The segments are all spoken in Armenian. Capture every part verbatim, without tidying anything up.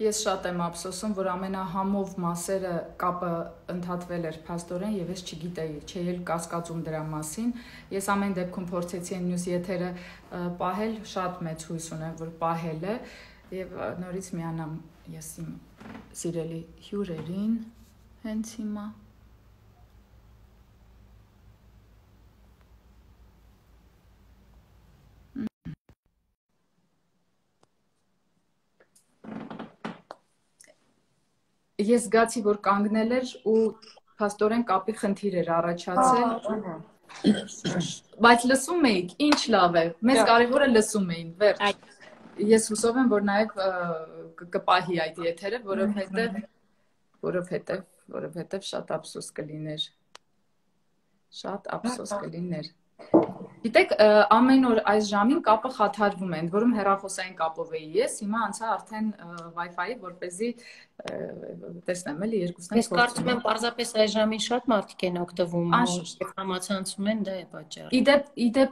Ես շատ եմ ափսոսում, որ ամենահամով մասերը կապը ընդհատվել էր փաստորեն եւ ես չգիտեի, չէի էլ կասկածում դրա մասին։ Ես ամեն դեպքում փորձեցի այն մյուս եթերը պահել, շատ մեծ հույս ունեմ, որ պահել է եւ նորից միանամ ես իմ սիրելի հյուրերին հենց հիմա։ Ես զգացի, որ կանգնել էր ու փաստորեն կապի խնդիր էր առաջացել։ Բայց լսում էիք, ինչ լավ է։ Մեզ կարևորը լսում էին, վերջ։ Ես հուսով եմ, որ նաև կպահի այդ եթերը, որովհետև որովհետև որովհետև շատ ափսոս կլիներ։ Շատ ափսոս կլիներ։ Գիտեք, ամեն օր այս ժամին կապը խաթարվում է, ընդ որում հեռախոսային կապով էի ես, հիմա անցա արդեն Wi-Fi-ի, որպեսզի տեսնեմ էլի երկուսն են փոխվում։ Ես կարծում եմ պարզապես այս ժամին շատ մարդիկ են օգտվում ու համացանցում են, դա է պատճառը։ Իդեպ, իդեպ,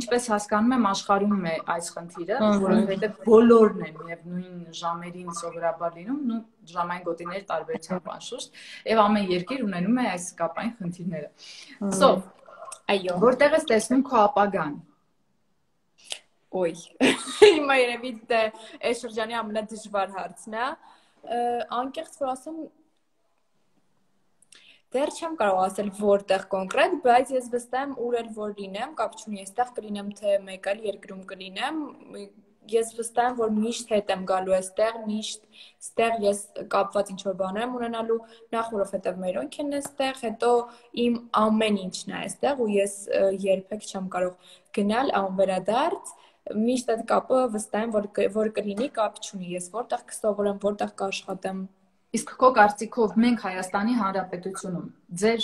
ինչպես հասկանում եմ, աշխարհում է այս խնդիրը, որովհետև բոլորն են եւ նույն ժամերին սովորաբար լինում, նու ժամային գոտիների տարբերությամբ անշուշտ, եւ ամեն երկիր ունենում է այս կապային խնդիրները։ So, այո, որտեղ ես տեսնում քո ապագան։ Ոյ, հիմա երևի դա այս շրջանի ամենադժվար հարցն է։ Անկեղծ որ ասեմ, դեռ չեմ կարող ասել որտեղ կոնկրետ, բայց ես վստահ եմ ուր էլ որ լինեմ, կապ չունի, այստեղ կլինեմ թե մեկ այլ երկրում կլինեմ, ես վստահ եմ, որ միշտ հետ եմ գալու այստեղ, միշտ այստեղ ես կապված ինչ-որ բաներ եմ ունենալու, նախ որովհետև մերոնք են այստեղ, հետո իմ ամեն ինչն է այստեղ ու ես երբեք չեմ կարող գնալ անվերադարձ, միշտ այդ կապը վստահ եմ, որ որ կլինի, կապ չունի, ես որտեղ կսովորեմ, որտեղ կաշխատեմ։ Իսկ քո կարծիքով մենք Հայաստանի Հանրապետությունում ձեր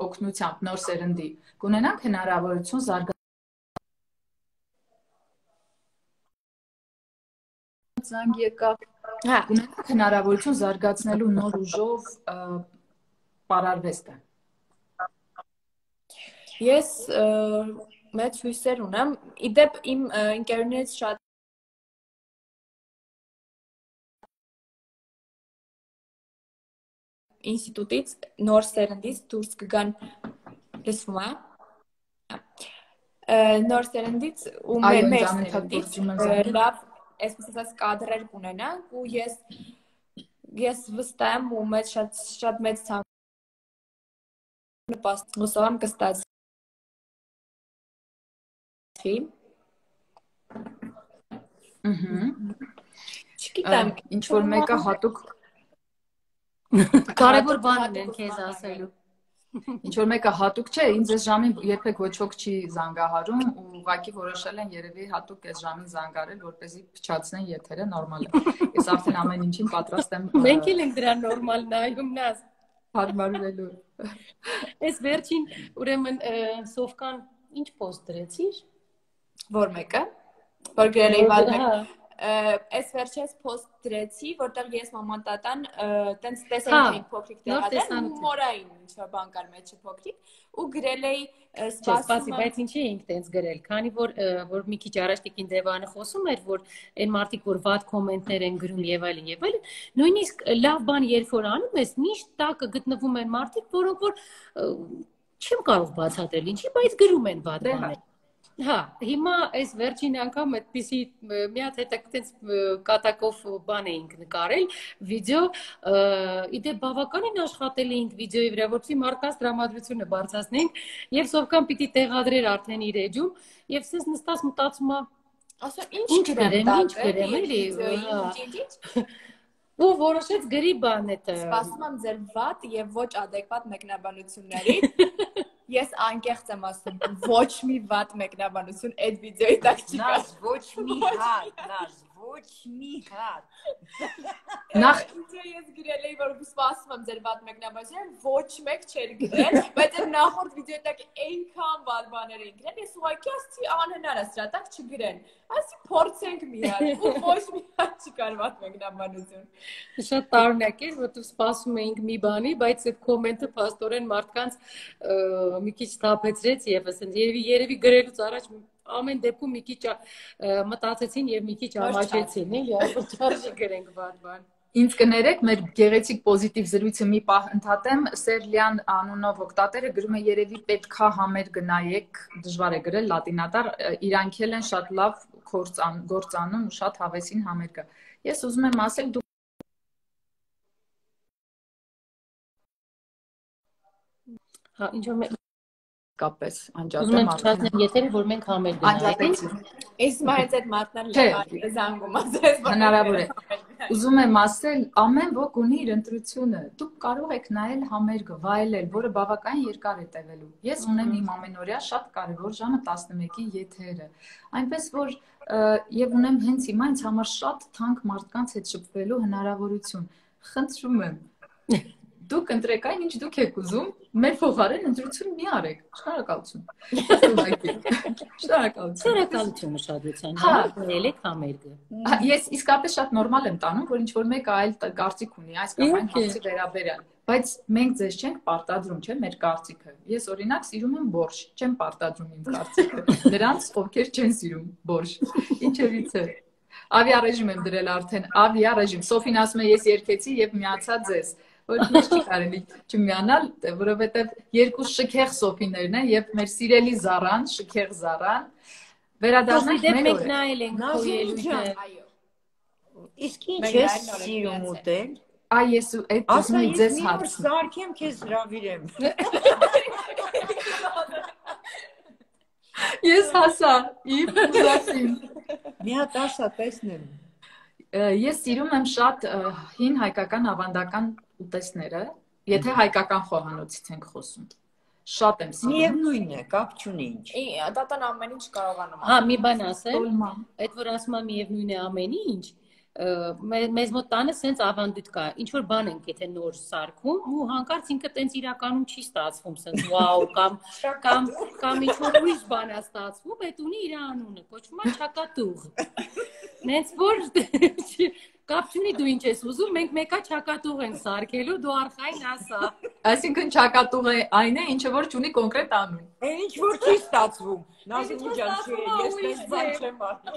օգնությամբ նոր սերնդի կունենանք հնարավորություն զարգանալ զանգ եկավ, հա, կունենանք հնարավորություն զարգացնելու նոր ուժով պարարվեստը։ Ես մեծ հույսեր ունեմ, իդեպ իմ ընկերներից շատ ինստիտուտից նոր սերնդից դուրս կգան լսվում է նոր սերնդից ու մեր սերնդից լավ այսպես ասած կադրեր կունենանք ու ես ես վստահ եմ ու մեծ շատ շատ մեծ ցանկ նպաստ հուսով եմ կստացվի ըհը չգիտեմ ինչ որ մեկը հատուկ կարևոր բան են քեզ ասելու ինչ որ մեկը հատուկ չէ, ինձ այս ժամին երբեք ոչ ոք չի զանգահարում ու ուղղակի որոշել են երևի հատուկ այս ժամին զանգարել, որպեսզի փչացնեն եթերը, նորմալ է։ Ես արդեն ամեն ինչին պատրաստ եմ։ Մենք էլ ենք դրա նորմալ նայում նաս հարմարվելու։ Այս վերջին ուրեմն Սովկան ինչ post դրեցիր։ Որ մեկը։ Որ գրել էի վալ Այս վերջերս post դրեցի, որտեղ ես մաման տատան տենց տեսել էինք փոքրիկ տեղադրել, հումորային ինչ-որ բան կար մեջը փոքրիկ ու գրել էի սպասի, բայց ինչի էինք տենց գրել, քանի որ որ մի քիչ առաջ Տիկին Դևանը խոսում էր, որ այն մարդիկ, որ վատ կոմենտներ են գրում եւ այլն եւ այլն, նույնիսկ լավ բան երբ որ անում ես, միշտ տակը գտնվում են մարդիկ, որոնք որ չեմ կարող բացատրել ինչի, բայց գրում են վատ բաներ։ Հա, հիմա այս վերջին անգամ այդպիսի մի հատ հետաքրքիր կատակով բան էինք նկարել, վիդեո, իդե բավականին աշխատել էինք վիդեոյի վրա, որպեսզի մարդկանց տրամադրությունը բարձրացնենք, եւ Սովկան պիտի տեղադրեր արդեն իր էջում, եւ ես նստած մտածում եմ, ասա ինչ գրեմ, ինչ գրեմ, էլի։ Ու որոշեց գրի բան էտը։ Սպասում եմ ձեր վատ եւ ոչ ադեկվատ մեկնաբանությունների։ Ես անկեղծ եմ ասում, ոչ մի վատ մեկնաբանություն այդ վիդեոյի տակ չկա։ Նաշ, ոչ մի հատ, նաշ, ոչ մի հատ։ Նախ ես գրել էի, որ սպասում եմ ձեր վատ մեկնաբանությունը, ոչ մեկ չէր գրել, բայց այդ նախորդ վիդեոյի տակ այնքան վատ բաներ էին գրել, ես ուղղակի ասացի անհնար է սրա տակ չգրեն։ Ասի փորձենք մի հատ, ու ոչ մի հատ չկար վատ մեկնաբանություն։ Շատ տարօրինակ էր, որ դու սպասում էինք մի բանի, բայց այդ կոմենտը փաստորեն մարդկանց մի քիչ թափեցրեց եւս, երևի երևի գրելուց առաջ ամեն դեպքում մի քիչ մտածեցին եւ մի քիչ ամաչեցին, էլի, այսօր չարժի գրենք բան բան։ Ինձ կներեք, մեր գեղեցիկ պոզիտիվ զրույցը մի պահ ընդհատեմ, Սերլյան անունով օգտատերը գրում է երևի պետքա համեր գնայեք, դժվար է գրել լատինատար, իրանք էլ են շատ լավ գործանում ու շատ հավեսին համեր կա։ Ես ուզում եմ ասել, դու Հա, ինչ որ կապես անջատեմ արդեն։ Եթերը որ մենք համեր գնայինք։ Ես մայից այդ մատնան զանգում ասես։ Հնարավոր է։ Ուզում եմ ասել, ամեն ոք ունի իր ընտրությունը։ Դուք կարող եք նայել համերգը, վայելել, որը բավականին երկար է տևելու։ Ես ունեմ իմ ամենօրյա շատ կարևոր ժամը տասնմեկի եթերը։ Այնպես որ եւ ունեմ հենց հիմա ինձ համար շատ թանկ մարդկանց հետ շփվելու հնարավորություն։ Խնդրում եմ Դուք ընտրեք այն, ինչ դուք եք ուզում, մեր փոխարեն ընտրություն մի արեք։ Շնորհակալություն։ Շնորհակալություն։ Շնորհակալություն ուշադրության համար, ելեք համերգը։ Ես իսկապես շատ նորմալ եմ տանում, որ ինչ որ մեկը այլ կարծիք ունի, այս կամ այն հարցի վերաբերյալ, բայց մենք ձեզ չենք պարտադրում, չէ՞, մեր կարծիքը։ Ես օրինակ սիրում եմ բորշ, չեմ պարտադրում իմ կարծիքը։ Նրանց, ովքեր չեն սիրում բորշ։ Ինչերից է։ Ավիառեժիմ եմ դրել արդեն, ավիառեժիմ։ Սոֆին ասում է, ես երկեցի եւ միացա ձեզ։ Որ ինչ չի կարելի չմիանալ, որովհետև երկու շքեղ Սոֆիներն են եւ մեր սիրելի Զարան, շքեղ Զարան, վերադառնանք մեր մենք նայել ենք քո ելույթը։ Իսկ ինչ ես սիրում ուտել։ Այ ես այդ ուզում եմ ձեզ հարց սարքեմ, քեզ հրավիրեմ։ Ես հասա, իմ ուզածին։ Մի հատ ասա, տեսնեմ։ Ես սիրում եմ շատ հին հայկական ավանդական ուտեստները, եթե հայկական խոհանոցից ենք խոսում։ Շատ եմ սիրում։ Միևնույնն է, կապ չունի ինչ։ Տատան ամեն ինչ կարողանում։ Հա, մի բան ասեմ, այդ որ ասում եմ միևնույնն է ամեն ինչ, մեզ մոտ տանը սենց ավանդույթ կա, ինչ որ բան ենք եթե նոր սարքում ու հանկարծ ինքը տենց իրականում չի ստացվում, սենց վաու կամ կամ կամ ինչ որ ուրիշ բան է ստացվում, այդ ունի իր անունը, կոչվում է չակատուղ։ Նենց որ կապ չունի դու ինչ ես ուզում, մենք մեկա չակատուղ ենք սարքելու, դու արխային ասա։ Այսինքն չակատուղը այն է, ինչը որ չունի կոնկրետ անուն։ Այն ինչ որ չի ստացվում։ Նազինի ջան, ես մեզ բան չեմ անում։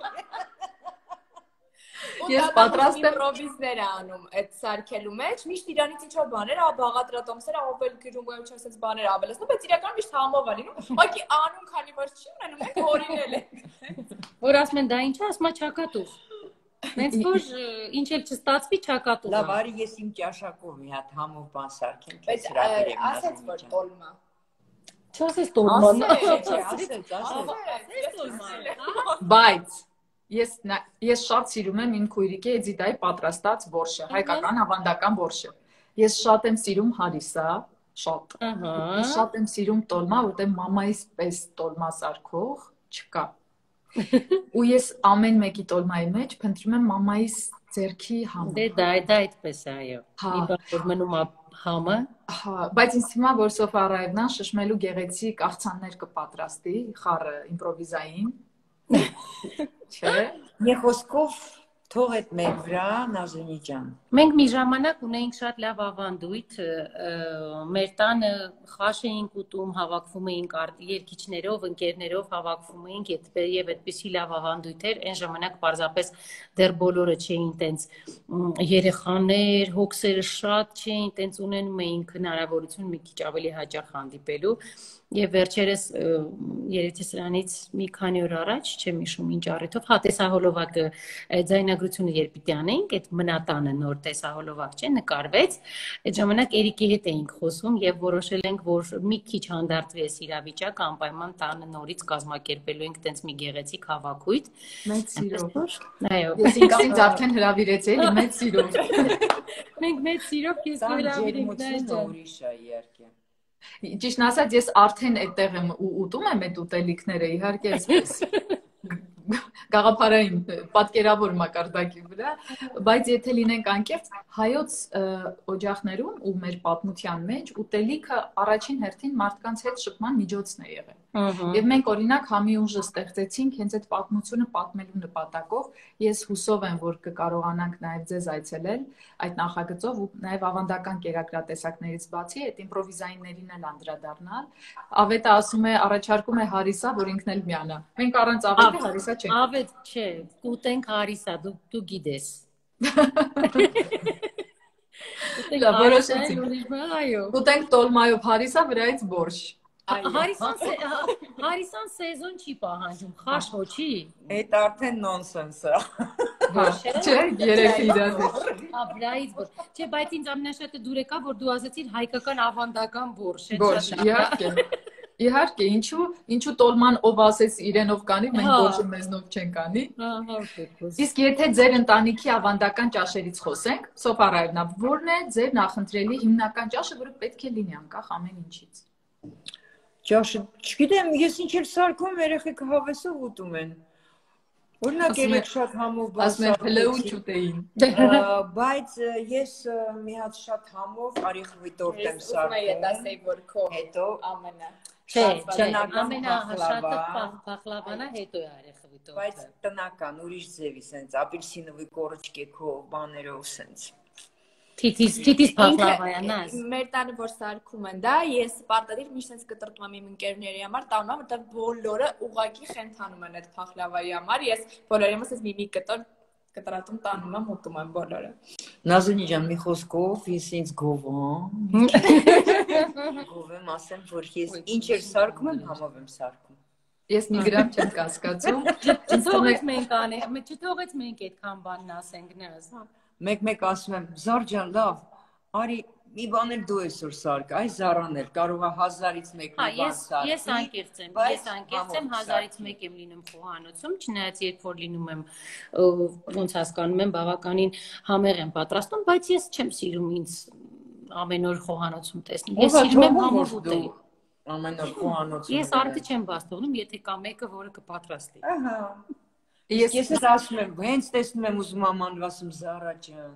Ես պատրաստ եմ improviser անում այդ սարքելու մեջ, միշտ իրանից ինչ-որ բաներ, ա բաղատրատոմսեր, ավել գրում ու ինչ ասես բաներ ավելացնում, բայց իրականում միշտ համով է լինում։ Ուղղակի անուն քանի որ չի ունենում, մենք հորինել ենք։ Որ ասում են դա ինչ է, ասում է չակատուղ։ Մենք որ ինչ էլ չստացվի չակատուղ։ Լավ, արի ես իմ ճաշակով մի հատ համով բան սարքեմ, քեզ հրավիրեմ։ Ասեց որ տոլմա։ Չասես տոլման։ Ասեց, ասեց։ Բայց Ես ես շատ սիրում եմ իմ քույրիկի Էդիտայի պատրաստած բորշը, հայկական ավանդական բորշը։ Ես շատ եմ սիրում հարիսա, շատ։ Ես շատ եմ սիրում տոլմա, որտեղ մամայիս պես տոլմա սարքող չկա։ Ու ես ամեն մեկի տոլմայի մեջ փնտրում եմ մամայիս ձեռքի համը։ Դե դա դա այդպես է, այո։ Մի բան որ մնում է համը։ Հա, բայց ինձ թվում է, որ Սոֆա Ռայևնան շշմելու գեղեցիկ աղցաններ կպատրաստի, խառը իմպրովիզային։ Չէ։ Մի խոսքով թող այդ մեր վրա Նազինի ջան։ Մենք մի ժամանակ ունեինք շատ լավ ավանդույթ, մեր տանը խաշ էինք ուտում, հավաքվում էինք երգիչներով, ընկերներով հավաքվում էինք եւ այդպիսի լավ ավանդույթ էր, այն ժամանակ պարզապես դեռ բոլորը չէին տենց երեխաներ, հոգսերը շատ չէին, տենց ունենում էինք հնարավորություն մի քիչ ավելի հաճախ հանդիպելու եւ վերջերս երևի սրանից մի քանի օր առաջ չեմ հիշում ինչ առիթով, հա տեսահոլովակը ձայնագրությունը երբ պիտի անեինք, այդ մնատանը նոր տեսահոլովակ չէ, նկարվեց, այդ ժամանակ Էրիկի հետ էինք խոսում եւ որոշել ենք, որ մի քիչ հանդարտվի այս իրավիճակը, անպայման տանը նորից կազմակերպելու ենք տենց մի գեղեցիկ հավաքույթ։ Մեծ սիրով։ Այո։ Ես ինքս արդեն հրավիրեցի, էլի մեծ սիրով։ Մենք մեծ սիրով քեզ հրավիրենք դա ուրիշ է իհարկե։ Ճիշտն ասած, ես արդեն այդտեղ եմ ու ուտում եմ այդ ուտելիքները, իհարկե այսպես։ գաղափարային պատկերավոր մակարդակի վրա, բայց եթե լինենք անկեղծ, հայոց օջախներում ու մեր պատմության մեջ ուտելիքը առաջին հերթին մարդկանց հետ շփման միջոցն է եղել։ Եվ մենք օրինակ համի ուժը ստեղծեցինք հենց այդ պատմությունը պատմելու նպատակով։ Ես հուսով եմ, որ կկարողանանք նաև ձեզ այցելել այդ նախագծով ու նաև ավանդական կերակրատեսակներից բացի այդ իմպրովիզայիններին էլ անդրադառնալ։ Ավետը ասում է, առաջարկում է հարիսա, որ ինքն էլ միանա։ Մենք առանց ավետի հարիսա չենք։ Ավետ չէ, կուտենք հարիսա, դու դու գիտես։ Դա որոշեցինք։ Կուտենք տոլմայով հարիսա, վրայից բորշ։ Հարիսան սեզոն չի պահանջում, խաշ ոչի։ Այդ արդեն նոնսենս է։ Չէ, երեքի իրար հետ։ Վրայից բորշ։ Չէ, բայց ինձ ամենաշատը դուր եկա, որ դու ասացիր հայկական ավանդական բորշ։ Բորշ, իհարկե։ Իհարկե, ինչու, ինչու տոլման ով ասես իրենով կանի, մենք բորշը մեզնով չենք անի։ Իսկ եթե ձեր ընտանիքի ավանդական ճաշերից խոսենք, Սոփարայևնա, ո՞րն է ձեր նախընտրելի հիմնական ճաշը, որը պետք է լինի անկախ ամեն ինչից։ Ճաշը, չգիտեմ, ես ինչ էլ սարքում երեխեքը հավեսով ուտում են։ Օրինակ երեք շատ համով բաց ասում են փլեու չուտեին։ Բայց ես մի հատ շատ համով արիխվի տորտ եմ սարքում։ Հետո ամենա Չէ, չէ, ամենաշատը փախլավանա, հետո է արեխվի տորտը։ Բայց տնական, ուրիշ ձևի, սենց ապելսինովի կորոճկեքով, բաներով, սենց։ Թիթիս, թիթիս փախլավայանաս։ Մեր տանը որ սարքում են, դա ես պարտադիր միշտ սենց կտրտում եմ իմ ընկերների համար, տանում եմ, որտեղ բոլորը ուղակի խենթանում են այդ փախլավայի համար, ես բոլորի համար սենց մի-մի կտոր կտրատում տանում եմ, ուտում եմ բոլորը։ Նազունի ջան, մի խոսքով ես ինձ գովեմ։ Գովեմ, ասեմ, որ ես ինչ էր սարքում եմ, համով եմ սարքում։ Ես մի գրամ չեմ կասկածում։ Չթողեց մենք անենք, չթողեց մենք այդքան բանն ասենք նազ։ Մեկ-մեկ ասում եմ, Զար ջան, լավ, արի մի բան էլ դու այսօր սարք, այ Զարան էլ կարող է հազարից մեկ մի բան սարքի։ Ես անկեղծ եմ, ես անկեղծ եմ, հազարից մեկ եմ լինում խոհանոցում, չնայած երբ որ լինում եմ, ոնց հասկանում եմ, բավականին համեղ եմ պատրաստում, բայց ես չեմ սիրում ինձ ամեն օր խոհանոցում տեսնել։ Ես սիրում եմ համով ուտել։ Ամեն օր խոհանոցում։ Ես արդի չեմ բաց թողնում, եթե կա մեկը, որը կպատրաստի։ Ահա։ Ես ես ասում եմ, հենց տեսնում եմ ուզում եմ անվասում Զարա ջան,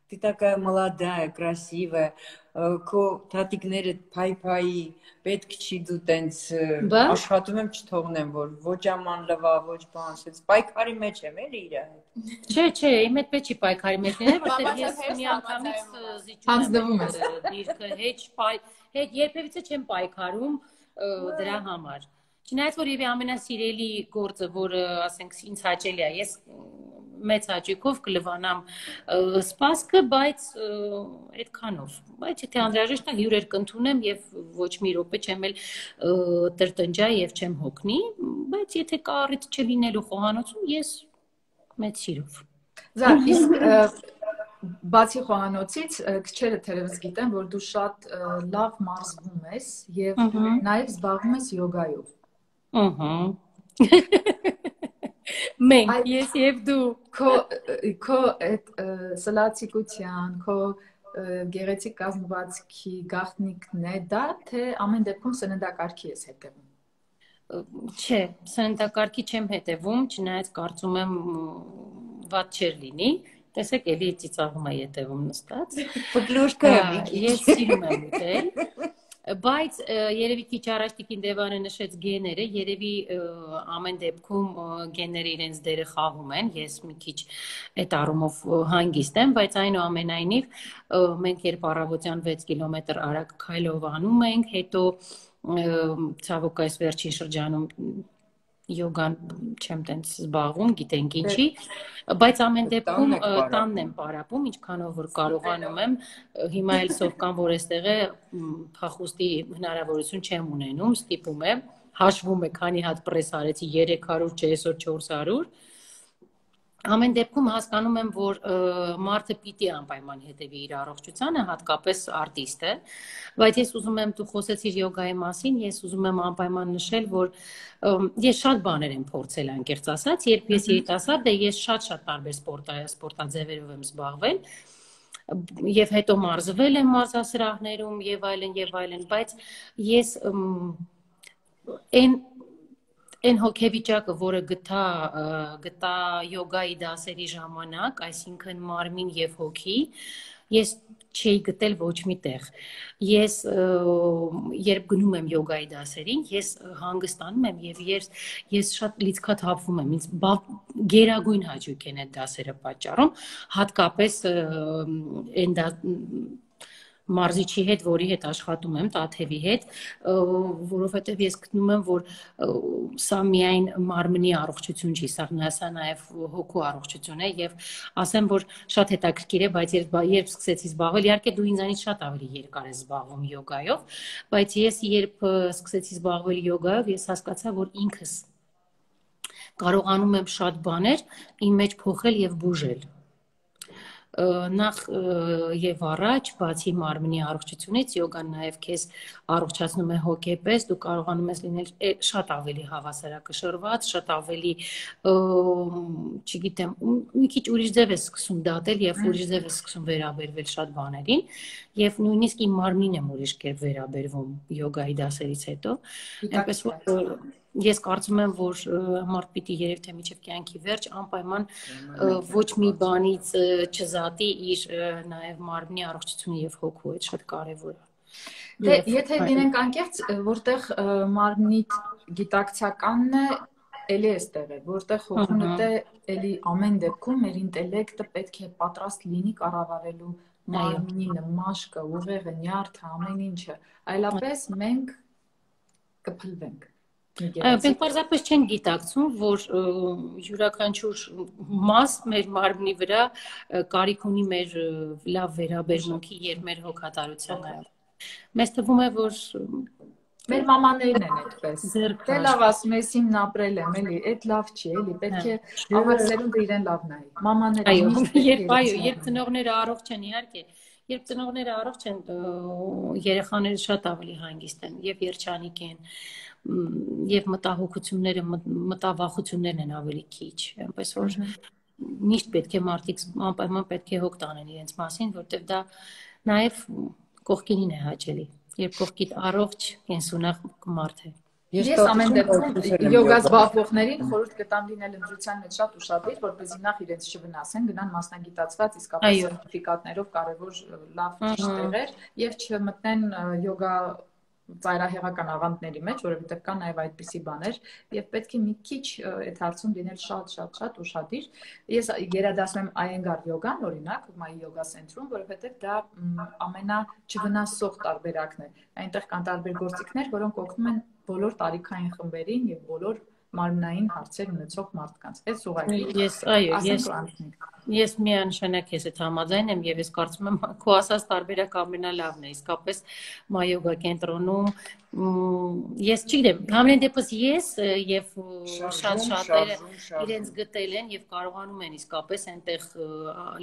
ты такая молодая, красивая, քո թաթիկները փայփայի, պետք չի դու տենց աշխատում եմ չթողնեմ, որ ոչ աման լվա, ոչ բան, ասես պայքարի մեջ եմ էլի իր հետ։ Չէ, չէ, իմ հետ պետք չի պայքարի մեջ լինել, որտեղ ես մի անգամից զիջում եմ դիրքը, հետ երբևիցե չեմ պայքարում դրա համար։ Չնայած որ եւ ամենասիրելի գործը, որը ասենք ինձ հաճելի է, ես մեծ հաճույքով կլվանամ սպասքը, բայց այդքանով։ Բայց եթե անհրաժեշտ է հյուրեր կընդունեմ եւ ոչ մի րոպե չեմ էլ տրտնջա եւ չեմ հոգնի, բայց եթե կա առիթ չլինելու խոհանոցում, ես մեծ սիրով։ Զար, իսկ բացի խոհանոցից քչերը թերևս գիտեն, որ դու շատ լավ մարզվում ես եւ նաեւ զբաղվում ես յոգայով։ Ահա։ Մենք, ես եւ դու, քո քո այդ սլացիկության, քո գեղեցիկ կազմվածքի գաղտնիքն է դա, թե ամեն դեպքում սննդակարգի ես հետևում։ Չէ, սննդակարգի չեմ հետևում, չնայած կարծում եմ վատ չէր լինի։ Տեսեք, էլի ծիծաղում է հետևում նստած։ Ֆլուշկա եմ։ Ես սիրում եմ ուտել։ Բայց երևի քիչ առաջ Տիկին Դևանը նշեց գեները, երևի ամեն դեպքում գեները իրենց դերը խաղում են, ես մի քիչ այդ առումով հանգիստ եմ, բայց այնուամենայնիվ մենք երբ առավոտյան վեց կիլոմետր արագ քայլով անում ենք, հետո ցավոք այս վերջին շրջանում յոգան չեմ տենց զբաղվում, գիտենք ինչի, բայց ամեն դեպքում տանն եմ պարապում, ինչքանով որ կարողանում եմ, հիմա էլ սովկան, որ այստեղ է փախուստի հնարավորություն չեմ ունենում, ստիպում է, հաշվում է, քանի հատ պրես արեցի, երեք հարյուր, չէ, այսօր չորս հարյուր, ամեն դեպքում հասկանում եմ, որ մարդը պիտի անպայման հետևի իր առողջությանը, հատկապես արտիստը, բայց ես ուզում եմ, դու խոսեցիր յոգայի մասին, ես ուզում եմ անպայման նշել, որ ես շատ բաներ եմ փորձել անկեղծ ասած, երբ ես երիտասարդ եմ, ես շատ-շատ տարբեր սպորտաձևերով եմ զբաղվել, եւ հետո մարզվել եմ մարզասրահներում եւ այլն եւ այլն, բայց ես այն Այն հոգեվիճակը, որը գտա գտա յոգայի դասերի ժամանակ, այսինքն մարմին եւ հոգի, ես չէի գտել ոչ մի տեղ։ Ես երբ գնում եմ յոգայի դասերին, ես հանգստանում եմ եւ ես ես շատ լիցքաթափվում եմ, ինձ գերագույն հաճույք են այդ դասերը պատճառում, հատկապես այն մարզիչի հետ, որի հետ աշխատում եմ, Տաթևի հետ, որովհետև ես գտնում եմ, որ սա միայն մարմնի առողջություն չի, սա նաև հոգու առողջություն է եւ ասեմ, որ շատ հետաքրքիր է, բայց երբ երբ սկսեցի զբաղվել, իհարկե դու ինձանից շատ ավելի երկար ես զբաղվում յոգայով, բայց ես երբ սկսեցի զբաղվել յոգայով, ես հասկացա, որ ինքս կարողանում եմ շատ բաներ իմ մեջ փոխել եւ բուժել։ Նախ եւ առաջ, բացի մարմնի առողջությունից, յոգան նաեւ քեզ առողջացնում է հոգեպես, դու կարողանում ես լինել շատ ավելի հավասարակշռված, շատ ավելի, չգիտեմ, մի քիչ ուրիշ ձև ես սկսում դատել եւ ուրիշ ձև ես սկսում վերաբերվել շատ բաներին, եւ նույնիսկ իմ մարմինն եմ ուրիշ կերպ վերաբերվում յոգայի դասերից հետո, այնպես որ ես կարծում եմ, որ մարդ պիտի երեք թե մինչև կյանքի վերջ անպայման ոչ մի բանից չզատի իր նաև մարմնի առողջությունը եւ հոգու, այդ շատ կարեւոր է։ Դե եթե լինենք անկեղծ, որտեղ մարմնի գիտակցականն է, էլի էստեղ է, որտեղ հոգունը դե էլի ամեն դեպքում մեր ինտելեկտը պետք է պատրաստ լինի կառավարելու մարմինը, մաշկը, ուղեղը, նյարդը, ամեն ինչը, այլապես մենք կփլվենք։ Մենք պարզապես չեն գիտակցում, որ յուրաքանչյուր մաս մեր մարմնի վրա կարիք ունի մեր լավ վերաբերմունքի եւ մեր հոգատարությանը։ Մեզ թվում է, որ մեր մամաներն են այդպես։ Դե լավ ասում ես, իմն ապրել եմ, էլի, այդ լավ չի, էլի, պետք է ավագ սերունդը իրեն լավ նայի։ Մամաները երբ այո, երբ ծնողները առողջ են, իհարկե, երբ ծնողները առողջ են, երեխաները շատ ավելի հանգիստ են եւ երջանիկ են։ Եվ մտահոգությունները, մտավախություններն են ավելի քիչ, այնպես որ միշտ պետք է մարդիկ անպայման պետք է հոգ տանեն իրենց մասին, որտեղ դա նաև կողքինին է հաճելի, երբ կողքիդ առողջ, կենսունակ մարդ է։ Ես ամեն դեպքում յոգա զբաղվողներին խորհուրդ կտամ լինել ընտրության մեջ շատ ուշադիր, որպեսզի նախ իրենց չվնասեն, գնան մասնագիտացված իսկապես սերտիֆիկատներով կարևոր լավ ճիշտ տեղեր եւ չմտնեն յոգա ծայրահեղական աղանդների մեջ, որովհետև կան նաև այդպիսի բաներ եւ պետք է մի քիչ այդ հարցում լինել շատ շատ շատ ուշադիր։ Ես գերադասում եմ Iyengar յոգան, օրինակ, Մայի յոգա սենտրում, որովհետև դա ամենաչվնասող տարբերակն է։ Այնտեղ կան տարբեր գործիքներ, որոնք օգնում են բոլոր տարիքային խմբերին եւ բոլոր մարմնային հարցեր ունեցող մարդկանց։ Այս ուղղակի ես այո, ես ես միանշանակ ես այդ համաձայն եմ եւ ես կարծում եմ քո ասած տարբերակը ամենալավն է, իսկապես Մայոգա կենտրոնում ես չգիտեմ, համենայն դեպս ես եւ շատ շատերը իրենց գտել են եւ կարողանում են իսկապես այնտեղ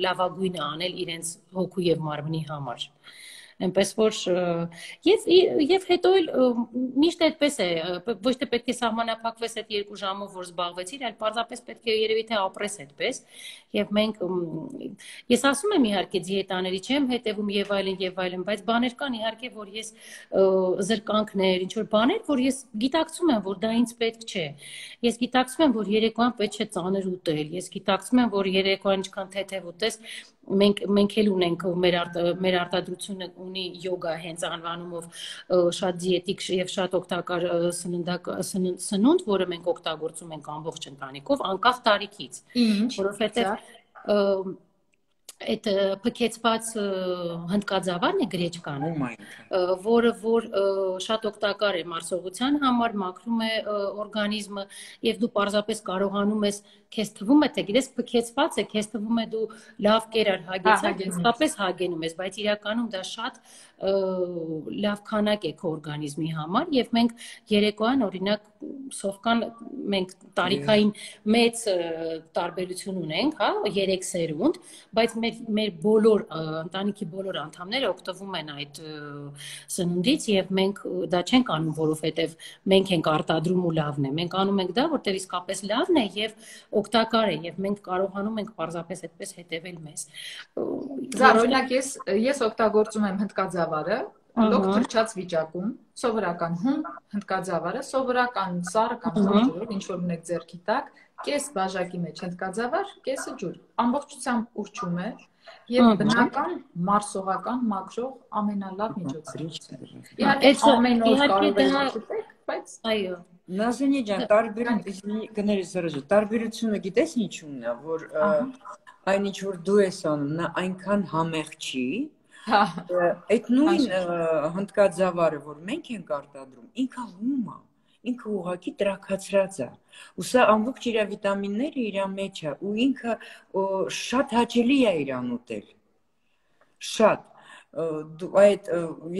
լավագույնը անել իրենց հոգու եւ մարմնի համար։ Այնպես որ եւ եւ հետո էլ միշտ այդպես է, ոչ թե պետք է սահմանափակվես այդ երկու ժամով, որ զբաղվեցիր, այլ պարզապես պետք է երևի թե ապրես այդպես։ Եվ մենք ես ասում եմ իհարկե դիետաների չեմ հետևում եւ այլն եւ այլն, բայց բաներ կան իհարկե, որ ես զրկանքներ, ինչ որ բաներ, որ ես գիտակցում եմ, որ դա ինձ պետք չէ։ Ես գիտակցում եմ, որ երեկոյան պետք չէ ծանր ուտել։ Ես գիտակցում եմ, որ երեկոյան ինչքան թեթև ուտես, մենք մենք էլ ունենք մեր արտ, մեր արտադրությունը ունի յոգա հենց անվանումով շատ դիետիկ եւ շատ օգտակար սննդակ սնունդ, որը մենք օգտագործում ենք ամբողջ ընտանիքով անկախ տարիքից, որովհետեւ այդ փքեցված հնդկաձավարն է գրեչկան, որը որ շատ օգտակար է մարսողության համար, մաքրում է օրգանիզմը եւ դու պարզապես կարողանում ես, քեզ թվում է թե գիտես փքեցված է, քեզ թվում է դու լավ կերար հագեցած, իսկապես հագենում ես, բայց իրականում դա շատ լավ քանակ է քո օրգանիզմի համար եւ մենք երեկոյան օրինակ սովկան մենք տարիքային մեծ տարբերություն ունենք, հա, երեք սերունդ, բայց մեր մեր բոլոր ընտանիքի բոլոր անդամները օգտվում են այդ սնունդից եւ մենք դա չենք անում, որովհետեւ մենք ենք արտադրում ու լավն է։ Մենք անում ենք դա, որտեղ իսկապես լավն է եւ օգտակար է եւ մենք կարողանում ենք պարզապես այդպես հետեւել մեզ։ Զար, օրինակ ես ես օգտագործում եմ հնդկաձավարը, լոկ թրջած վիճակում, սովորական հում, հնդկաձավարը, սովորական սառը կամ սուրճ, ինչ որ ունեք ձեռքի տակ, կես բաժակի մեջ հնդկաձավար, կեսը ջուր, ամբողջությամբ ուռչում է եւ բնական մարսողական մաքրող ամենալավ միջոցը։ Իհարկե ամեն օր կարող եք ուտել, բայց այո Նազենի ջան, տարբերությունը գներես զրոժը, տարբերությունը գիտես ինչու՞մն է, որ այն ինչ որ դու ես անում, նա այնքան համեղ չի, այդ նույն հնդկաձավարը, որ մենք ենք արտադրում, ինքը հում է, ինքը ուղղակի տրաքացրած է, ու սա ամբողջ իր վիտամինները իր մեջ է, ու ինքը շատ հաճելի է իրան ուտել, շատ, այդ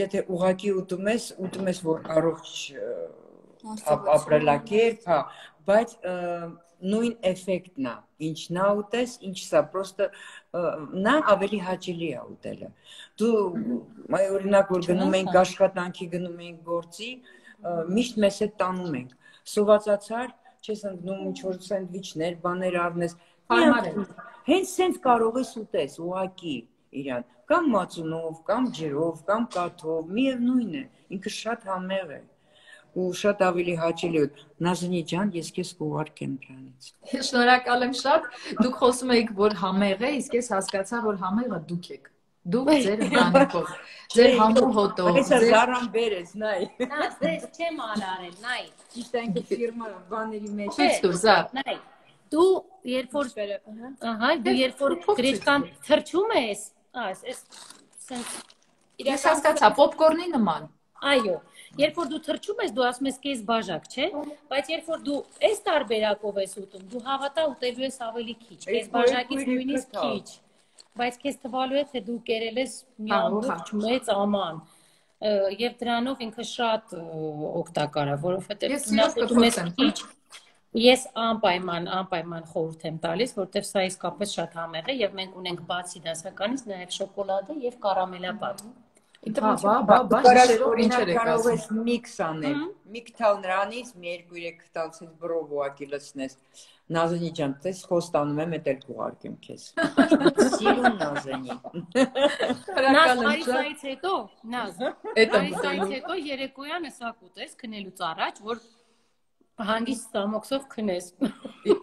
եթե ուղղակի ուտում ես, ուտում ես, որ առողջ ապրելակերպ, բայց նույն էֆեկտն է, ինչ նա ուտես, ինչ սա, պրոստը նա ավելի հաճելի է ուտելը։ Դու, օրինակ, որ գնում ենք աշխատանքի, գնում ենք գործի, միշտ մեզ հետ տանում ենք, սովածացար, չես ընկնում ինչ-որ սենդվիչներ, բաներ առնես, հենց սենց կարող ես ուտես, ուղղակի իրան, կամ մածունով, կամ ջրով, կամ կաթով, միևնույն է, ինքը շատ համեղ է։ Ու շատ ավելի հաճելի է։ Նազենի ջան, ես քեզ կուղարկեմ դրանից։ Շնորհակալ եմ շատ։ Դուք խոսում եք, որ համեղ է, իսկ ես հասկացա, որ համեղը դուք եք։ Դուք ձեր ընտանիքով, ձեր համու հոտով, ձեր զարան բերես, նայ։ Նա ձեզ չեմ արարել, նայ։ Ճիշտ այնքը ֆիրմա բաների մեջ։ Ցույց տուր, զա։ Նայ։ Դու երբ որ ահա, դու երբ որ գրեչկան թրջում ես, այս, այս սենց Ես հասկացա, պոպկորնի նման։ Այո, երբ որ դու թրջում ես, դու ասում ես կես բաժակ, չէ՞, բայց երբ որ դու այս տարբերակով ես ուտում, դու հավատա ուտելու ես ավելի քիչ, կես բաժակից նույնիսկ քիչ, բայց քեզ թվալու է, թե դու կերել ես մի ամբողջ մեծ աման, եւ դրանով ինքը շատ օգտակար է, որովհետեւ նա ուտում ես քիչ, ես անպայման, անպայման խորհուրդ եմ տալիս, որովհետեւ սա իսկապես շատ համեղ է եւ մենք ունենք բացի դասականից նաեւ շոկոլադը եւ կարամելապատ։ Բա, բա, բա, բա, շերով ինչեր եք կարող ես ասում։ միքս անել, մի կտալ նրանից, մի երկու երեք կտալ ցած բրով ուղակի լցնես։ Նազենի ջան, տես խոստանում եմ, էդ էլ կուղարկեմ քեզ։ Սիրուն Նազենի։ Նազ, Մարիսայից հետո, Նազ, Մարիսայից հետո երեկոյանը սա կուտես քնելուց առաջ, որ հանգիստ ստամոքսով քնես։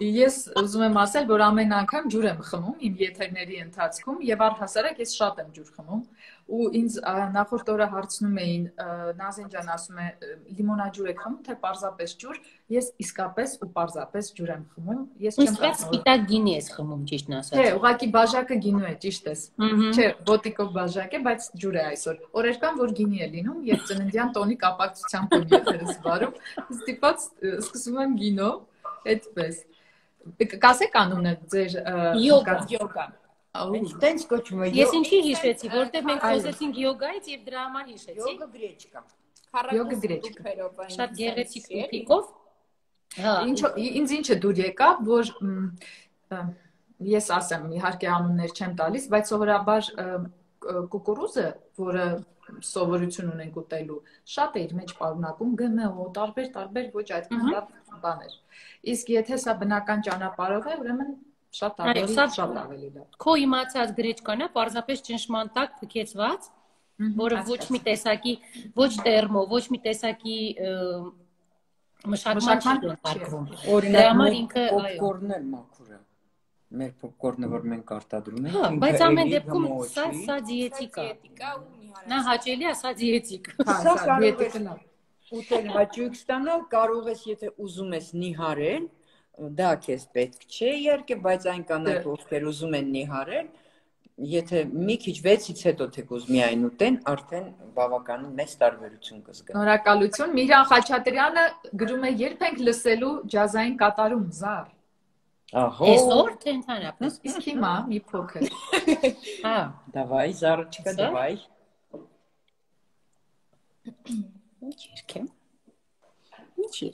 Ես ուզում եմ ասել, որ ամեն անգամ ջուր եմ խմում իմ եթերների ընթացքում եւ առհասարակ ես շատ եմ ջուր խմում ու ինձ նախորդ օրը հարցնում էին Նազեն ջան ասում է լիմոնաջուր եք խմում թե պարզապես ջուր ես իսկապես ու պարզապես ջուր եմ խմում ես չեմ Իսկ սպիտակ գինի ես խմում ճիշտն ասած Չէ ուղղակի բաժակը գինու է ճիշտ ես Չէ բոտիկով բաժակ է բայց ջուր է այսօր օրերկան որ գինի է լինում եւ ծննդյան տոնի կապակցությամբ եմ եթերս վարում ստիպած սկսում եմ գինով այդպես կասեք անունը ձեր յոգա յոգա Տենց կոչվում է Ես ինչի հիշեցի, որտեղ մենք խոսեցինք յոգայից եւ դրա համար հիշեցի։ Յոգա գրեչկա։ Յոգա գրեչկա։ Շատ գեղեցիկ տուփիկով։ Հա, ինչ ինձ ինչը դուր եկավ, որ ես ասեմ, իհարկե անուններ չեմ տալիս, բայց սովորաբար կուկուրուզը, որը սովորություն ունենք ուտելու, շատ է իր մեջ պարունակում Գ M O, տարբեր տարբեր ոչ այդքան լավ բաներ։ Իսկ եթե սա բնական ճանապարհով է, ուրեմն Շատ ավելի, շատ ավելի լավ։ Քո իմացած գրեչկան է, պարզապես ճնշման տակ փքեցված, որը ոչ մի տեսակի, ոչ տերմո, ոչ մի տեսակի մշակման չի ենթարկվում։ Օրինակ ինքը պոպկորնն էլ մաքուր է։ Մեր պոպկորնը, որ մենք արտադրում ենք, Հա, բայց ամեն դեպքում սա սա դիետիկ է։ Նա հաճելի է, սա դիետիկ։ Հա, սա դիետիկն է։ Ուտել հաճույք ստանալ կարող ես, եթե ուզում ես նիհարել Դա քեզ պետք չէ իհարկե, բայց այն կանայք, ովքեր ուզում են նիհարել, եթե մի քիչ վեցից հետո թեկուզ միայն ուտեն, արդեն բավականին մեծ տարբերություն կզգան։ Շնորհակալություն։ Միրան Խաչատրյանը գրում է երբ ենք լսելու ջազային կատարում զար։ Ահա։ Այսօր թե ընդհանրապես։ Իսկ հիմա մի փոքր։ Հա, Դավայ, զարը չկա, դավայ։ Ինչ երկեմ։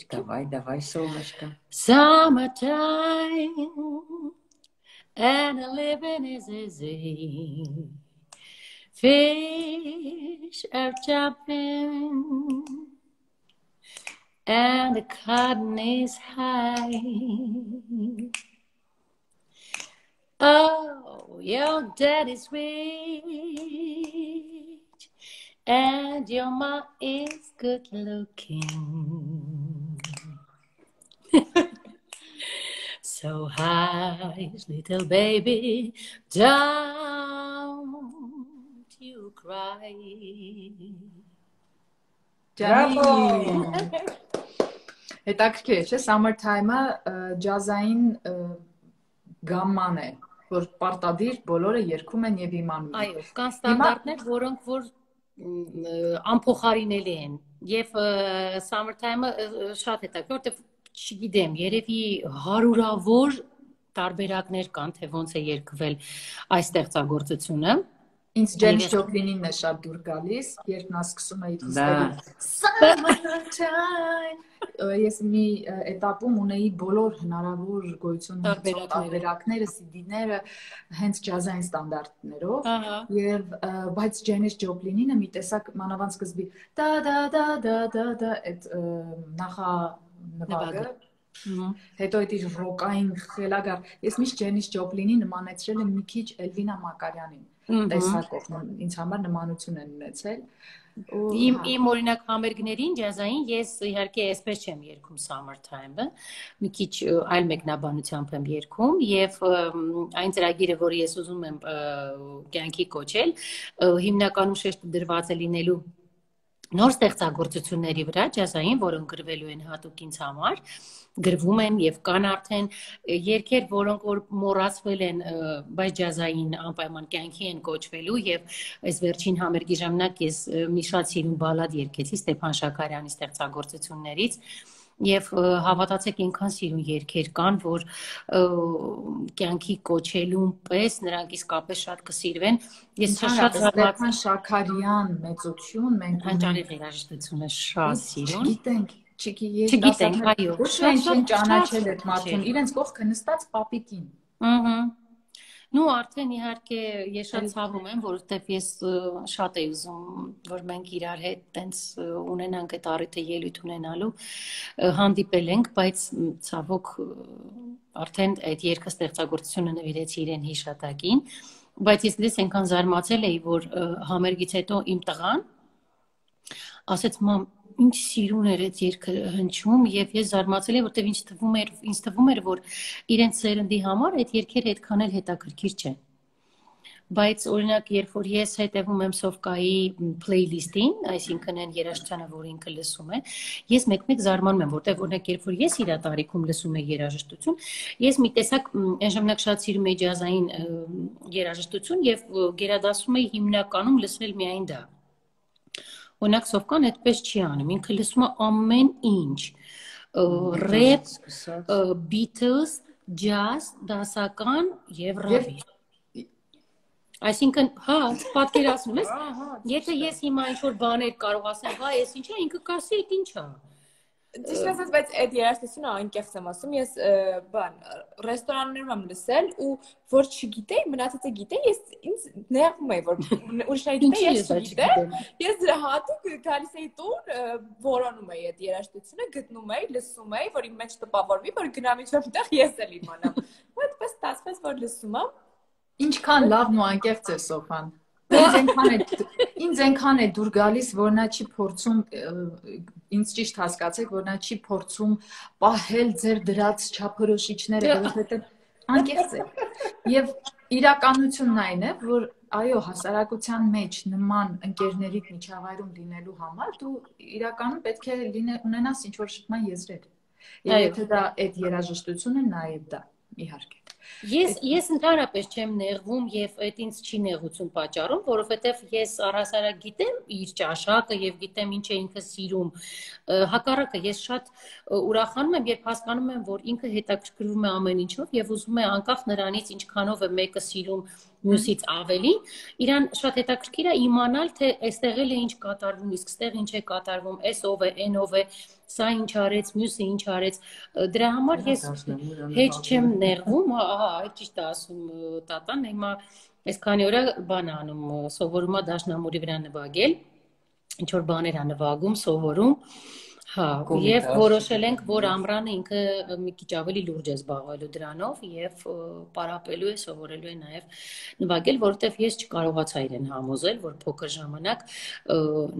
Давай, давай, солнышко. Summertime and a living is easy. Fish are jumping and the cotton is high. Oh, your daddy's rich And your mom is good looking. So hush, little baby, don't you cry. Bravo. Հետաքրքիր է, չէ՞, Summertime-ը ջազային գամման է, որ պարտադիր բոլորը երգում են եւ իմանում։ Այո, կան ստանդարտներ, որոնք որ անփոխարինելի են։ Եվ Summertime-ը շատ հետաքրքիր, որտեղ չգիտեմ, երևի հարյուրավոր տարբերակներ կան, թե ոնց է երգվել այս ստեղծագործությունը։ Ինձ Ջեյմս Ջոպլինին է շատ դուր գալիս, երբ նա սկսում է իր Summertime։ Ես մի էտապում ունեի բոլոր հնարավոր գոյություն ունեցող տարբերակները, սի դիները հենց ջազային ստանդարտներով, եւ բայց Ջեյմս Ջոպլինինը մի տեսակ մանավանդ սկզբի դա դա դա դա դա դա այդ նախա նվագը, հետո այդ իր ռոկային խելագար, ես միշտ Ջեյմս Ջոպլինին նմանեցրել եմ մի քիչ Էլվինա Մակարյանին, տեսակով ինձ համար նմանություն են ունեցել։ Իմ իմ օրինակ համերգներին ջազային ես իհարկե այսպես չեմ երգում Summertime-ը, մի քիչ այլ մեկնաբանությամբ եմ երգում եւ այն ծրագիրը, որը ես ուզում եմ կյանքի կոչել, հիմնականում շեշտը դրված է լինելու նոր ստեղծագործությունների վրա, ջազային, որոնք գրվելու են հատուկ ինձ համար, գրվում են եւ կան արդեն երգեր, որոնք որ մոռացվել են, բայց ջազային անպայման կյանքի են կոչվելու եւ այս վերջին համերգի ժամանակ ես մի շատ սիրուն բալադ երգեցի Ստեփան Շաքարյանի ստեղծագործություններից եւ հավատացեք ինքան սիրուն երգեր կան, որ կյանքի կոչելուն պես նրանք իսկապես շատ կսիրվեն։ Ես շատ Ստեփան Շաքարյան մեծություն, մենք հանճարի երաժշտությունը շատ սիրուն։ Գիտենք, չգիտենք, այո, շատ ճանաչել այդ մարդուն, իրենց կողքը նստած պապիկին։ Ահա։ Ну արդեն իհարկե ես շատ ցավում եմ, որովհետև ես շատ եի ուզում, որ մենք իրար հետ տենց ունենանք այդ առիթը ելույթ ունենալու, հանդիպել ենք, բայց ցավոք արդեն այդ երգը ստեղծագործությունը նվիրեցի իրեն հիշատակին, բայց ես դες այնքան զարմացել էի, որ համերգից հետո իմ տղան ասեց մամ ինչ սիրուն էր այդ երգը հնչում եւ ես զարմացել եմ որտեւ ինձ թվում էր ինձ թվում էր որ իրենց սերնդի համար այդ երգերը այդքան էլ հետաքրքիր չեն բայց օրինակ երբ որ ես հետևում եմ Սովկայի playlist-ին, այսինքն այն երաժշտությանը, որ ինքը լսում է, ես մեկ-մեկ զարմանում եմ, որտեղ օրինակ երբ որ ես իր տարիքում լսում եմ երաժշտություն, ես մի տեսակ այն ժամանակ շատ սիրում եի ջազային երաժշտություն եւ գերադասում էի հիմնականում լսել միայն դա։ Օրինակ Սովկան այդպես չի անում, ինքը լսում է ամեն ինչ, ռեփ, Beatles, jazz, դասական եւ ռավի։ Այսինքն, հա, պատկերացնում ես, եթե ես հիմա ինչ-որ բաներ կարող ասեմ, հա, ես ինչ է, ինքը կասի, այդ ինչ է։ Ճիշտ ասած, բայց այդ երաժշտությունը անկեղծ եմ ասում, ես բան, ռեստորաններում եմ լսել ու որ չգիտեի, մնացածը գիտեի, ես ինձ նեղվում էի, որ ուրիշները գիտեի, ես չգիտեմ, ես դրա հատուկ գալիս էի տուն, որոնում էի այդ երաժշտությունը, գտնում էի, լսում էի, որ իմ մեջ տպավորվի, որ գնամ ինչ-որ տեղ ես էլ իմանամ։ Ու այդպես ստացվեց, որ լսում եմ։ Ինչքան լավն ու անկեղծ է Սոֆան։ Ինձ այնքան է դուր գալիս, որ նա չի փորձում, ինձ ճիշտ հասկացեք, որ նա չի փորձում պահել ձեր դրած չափորոշիչները, որովհետև անկեղծ է։ Եվ իրականությունն այն է, որ այո, հասարակության մեջ նման ընկերների միջավայրում լինելու համար դու իրականում պետք է ունենաս ինչ-որ շփման եզրեր։ Եվ եթե դա այդ երաժշտությունը նաև դա, իհարկե։ Ես ես ընդհանրապես չեմ նեղվում եւ այդ ինձ չի նեղություն պատճառում, որովհետեւ ես առհասարակ գիտեմ իր ճաշակը եւ գիտեմ ինչ է ինքը սիրում։ Հակառակը ես շատ ուրախանում եմ, երբ հասկանում եմ, որ ինքը հետաքրքրվում է ամեն ինչով եւ ուզում է անկախ նրանից ինչքանով է մեկը սիրում մյուսից ավելի, իրան շատ հետաքրքիր է իմանալ, թե այստեղ էլ է ինչ կատարվում, իսկ այստեղ ինչ է կատարվում, այս ով է, այն ով է, սա ինչ արեց, մյուսը ինչ արեց, դրա համար ես հեչ չեմ նեղվում, ահա, այդ ճիշտ է ասում տատան, հիմա այս քանի օր բան անում, սովորում է դաշնամուրի վրա նվագել, ինչ որ բաներ է նվագում, սովորում, Հա, եւ որոշել ենք, որ Ամրանը ինքը մի քիչ ավելի լուրջ է զբաղվելու դրանով եւ պարապելու է, սովորելու է նաեւ նվագել, որովհետեւ ես չկարողացա իրեն համոզել, որ փոքր ժամանակ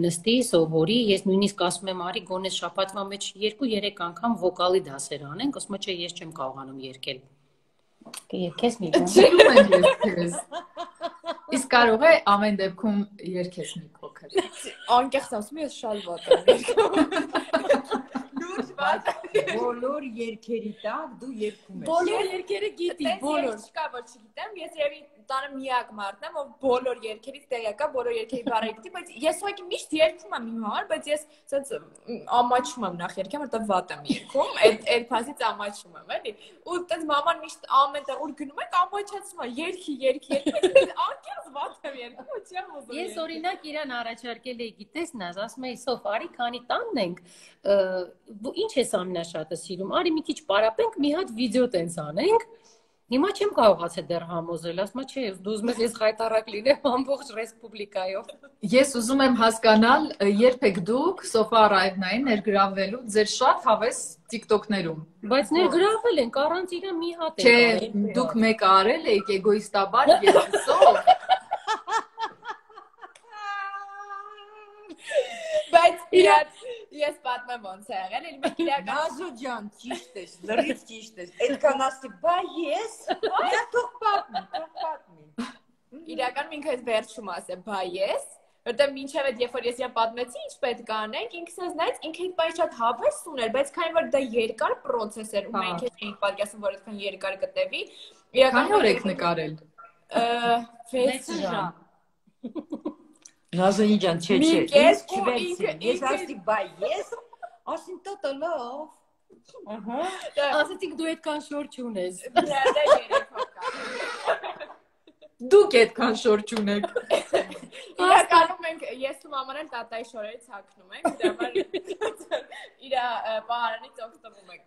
նստի, սովորի, ես նույնիսկ ասում եմ, արի գոնե շաբաթվա մեջ երկու երեք անգամ վոկալի դասեր անենք, ասում եմ, չէ, ես չեմ կարողանում երգել։ Երգես մի բան։ Չեմ են երգես։ Իսկ կարող է ամեն դեպքում երգես մի փոքր։ Անկեղծ ասում ես շատ վատ եմ երգում։ Լուրջ վատ։ Բոլոր երգերի տակ դու երգում ես։ Բոլոր երգերը գիտի, բոլոր։ Չկա որ չգիտեմ, ես երևի տանը միակ մարդն եմ, ով բոլոր երգերից տեղյակ է, բոլոր երգերի բառերը գիտի, բայց ես ուղղակի միշտ երգում եմ իմ համար, բայց ես ասած ամաչում եմ նախ երգեմ, որտեղ վատ եմ երգում, այդ այդ փասից ամաչում եմ, էլի։ Ու այդպես մաման միշտ ամեն տեղ ուր գնում եք ամաչացնում է, երգի, երգի, երգի, անկեղծ վատ եմ երգում, ու չեմ ուզում։ Ես օրինակ իրան առաջարկել էի, գիտես, նազ, ասում էի, սով, արի քանի տանն ենք, ինչ ես ամենաշատը սիրում, արի մի քիչ պարապենք, մի հատ վիդեո տենց անենք։ Հիմա չեմ կարողացել դեռ համոզել, ասում եմ, չէ, դու ուզում ես ես խայտարակ լինեմ ամբողջ ռեսպուբլիկայով։ Ես ուզում եմ հասկանալ, երբ եք դուք Sofa Arrive-նային ներգրավվելու ձեր շատ հավես TikTok-ներում։ Բայց ներգրավվել ենք, առանց իրա մի հատ ենք արել։ Չէ, դուք մեկը արել եք էգոիստաբար երկուսով։ Բայց իրար ես պատմեմ ոնց է եղել, էլի մեկ իրական Նազո ջան, ճիշտ ես, լրիվ ճիշտ ես։ Այդքան ասի, բա ես, դա թող պատմի, թող պատմի։ Իրական ինքը այս վերջում ասե, բա ես, որտեղ մինչև այդ երբ որ ես իրա պատմեցի, ինչ պետք է անենք, ինքս ես նայեց, ինքը այդ շատ հավես ուներ, բայց քանի որ դա երկար process էր ու մենք էինք պատկերացնում, որ այդքան երկար գտևի, իրական օր եք նկարել։ վեց ժամ։ Նազոնի ջան, չէ, չէ, ես չվերցին, ես ասի, բա ես, ասին տոտը լով, ասեցիք դու այդքան շոր չունես, դուք այդքան շոր չունեք, իրականում մենք, ես ու մաման են տատայի շորերից հակնում ենք, դրամար իրա պահարանից օգտվում ենք,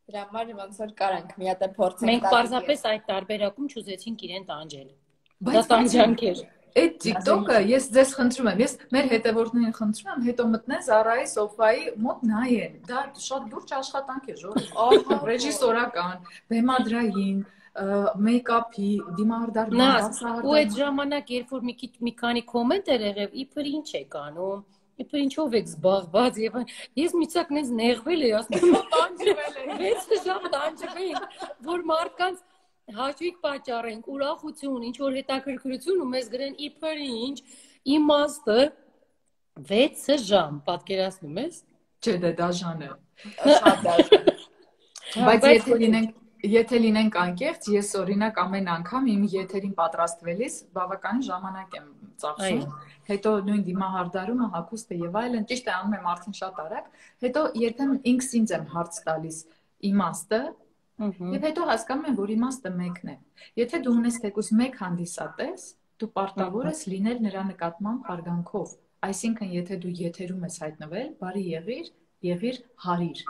դրամար ոնց որ կարանք, մի հատ է փորձենք, մենք պարզապես այդ տարբերակում չուզեցինք իրեն տանջել, դա տանջանք էր։ Այդ TikTok-ը ես ձեզ խնդրում եմ, ես մեր հետևորդներին խնդրում եմ, հետո մտնեն Զարայի Սոֆայի մոտ նայեն։ Դա շատ լուրջ աշխատանք է, ժողովուրդ։ Ռեժիսորական, բեմադրային, մեյքափի, դիմահարդար բացահարդար։ Ու այդ ժամանակ, երբ որ մի քիչ մի քանի կոմենտ էր եղել, իբր ինչ եք անում, իբր ինչով եք զբաղված եւ ես միցակ նենց նեղվել էի, ասում եմ, տանջվել եմ։ վեց ժամ տանջվենք, որ մարդկանց հաճույք պատճառենք, ուրախություն, ինչ որ հետաքրքրություն ու մեզ գրեն իբր ինչ, իմաստը վեց ժամ, պատկերացնում ես։ Չէ, դա դաժան է։ Շատ դաժան։ Բայց եթե լինենք Եթե լինենք անկեղծ, ես օրինակ ամեն անգամ իմ եթերին պատրաստվելիս բավականին ժամանակ եմ ծախսում։ Հետո նույն դիմահարդարումը, հագուստը եւ այլն, ճիշտ է անում եմ արդեն շատ արագ, հետո երբեմն ինքս ինձ եմ հարց տալիս իմաստը, եւ հետո հասկանում եմ, որ իմաստը մեկն է։ Եթե դու ունես թեկուզ մեկ հանդիսատես, դու պարտավոր ես լինել նրա նկատմամբ հարգանքով։ Այսինքն, եթե դու եթերում ես հայտնվել, բարի եղիր, եղիր հարիր։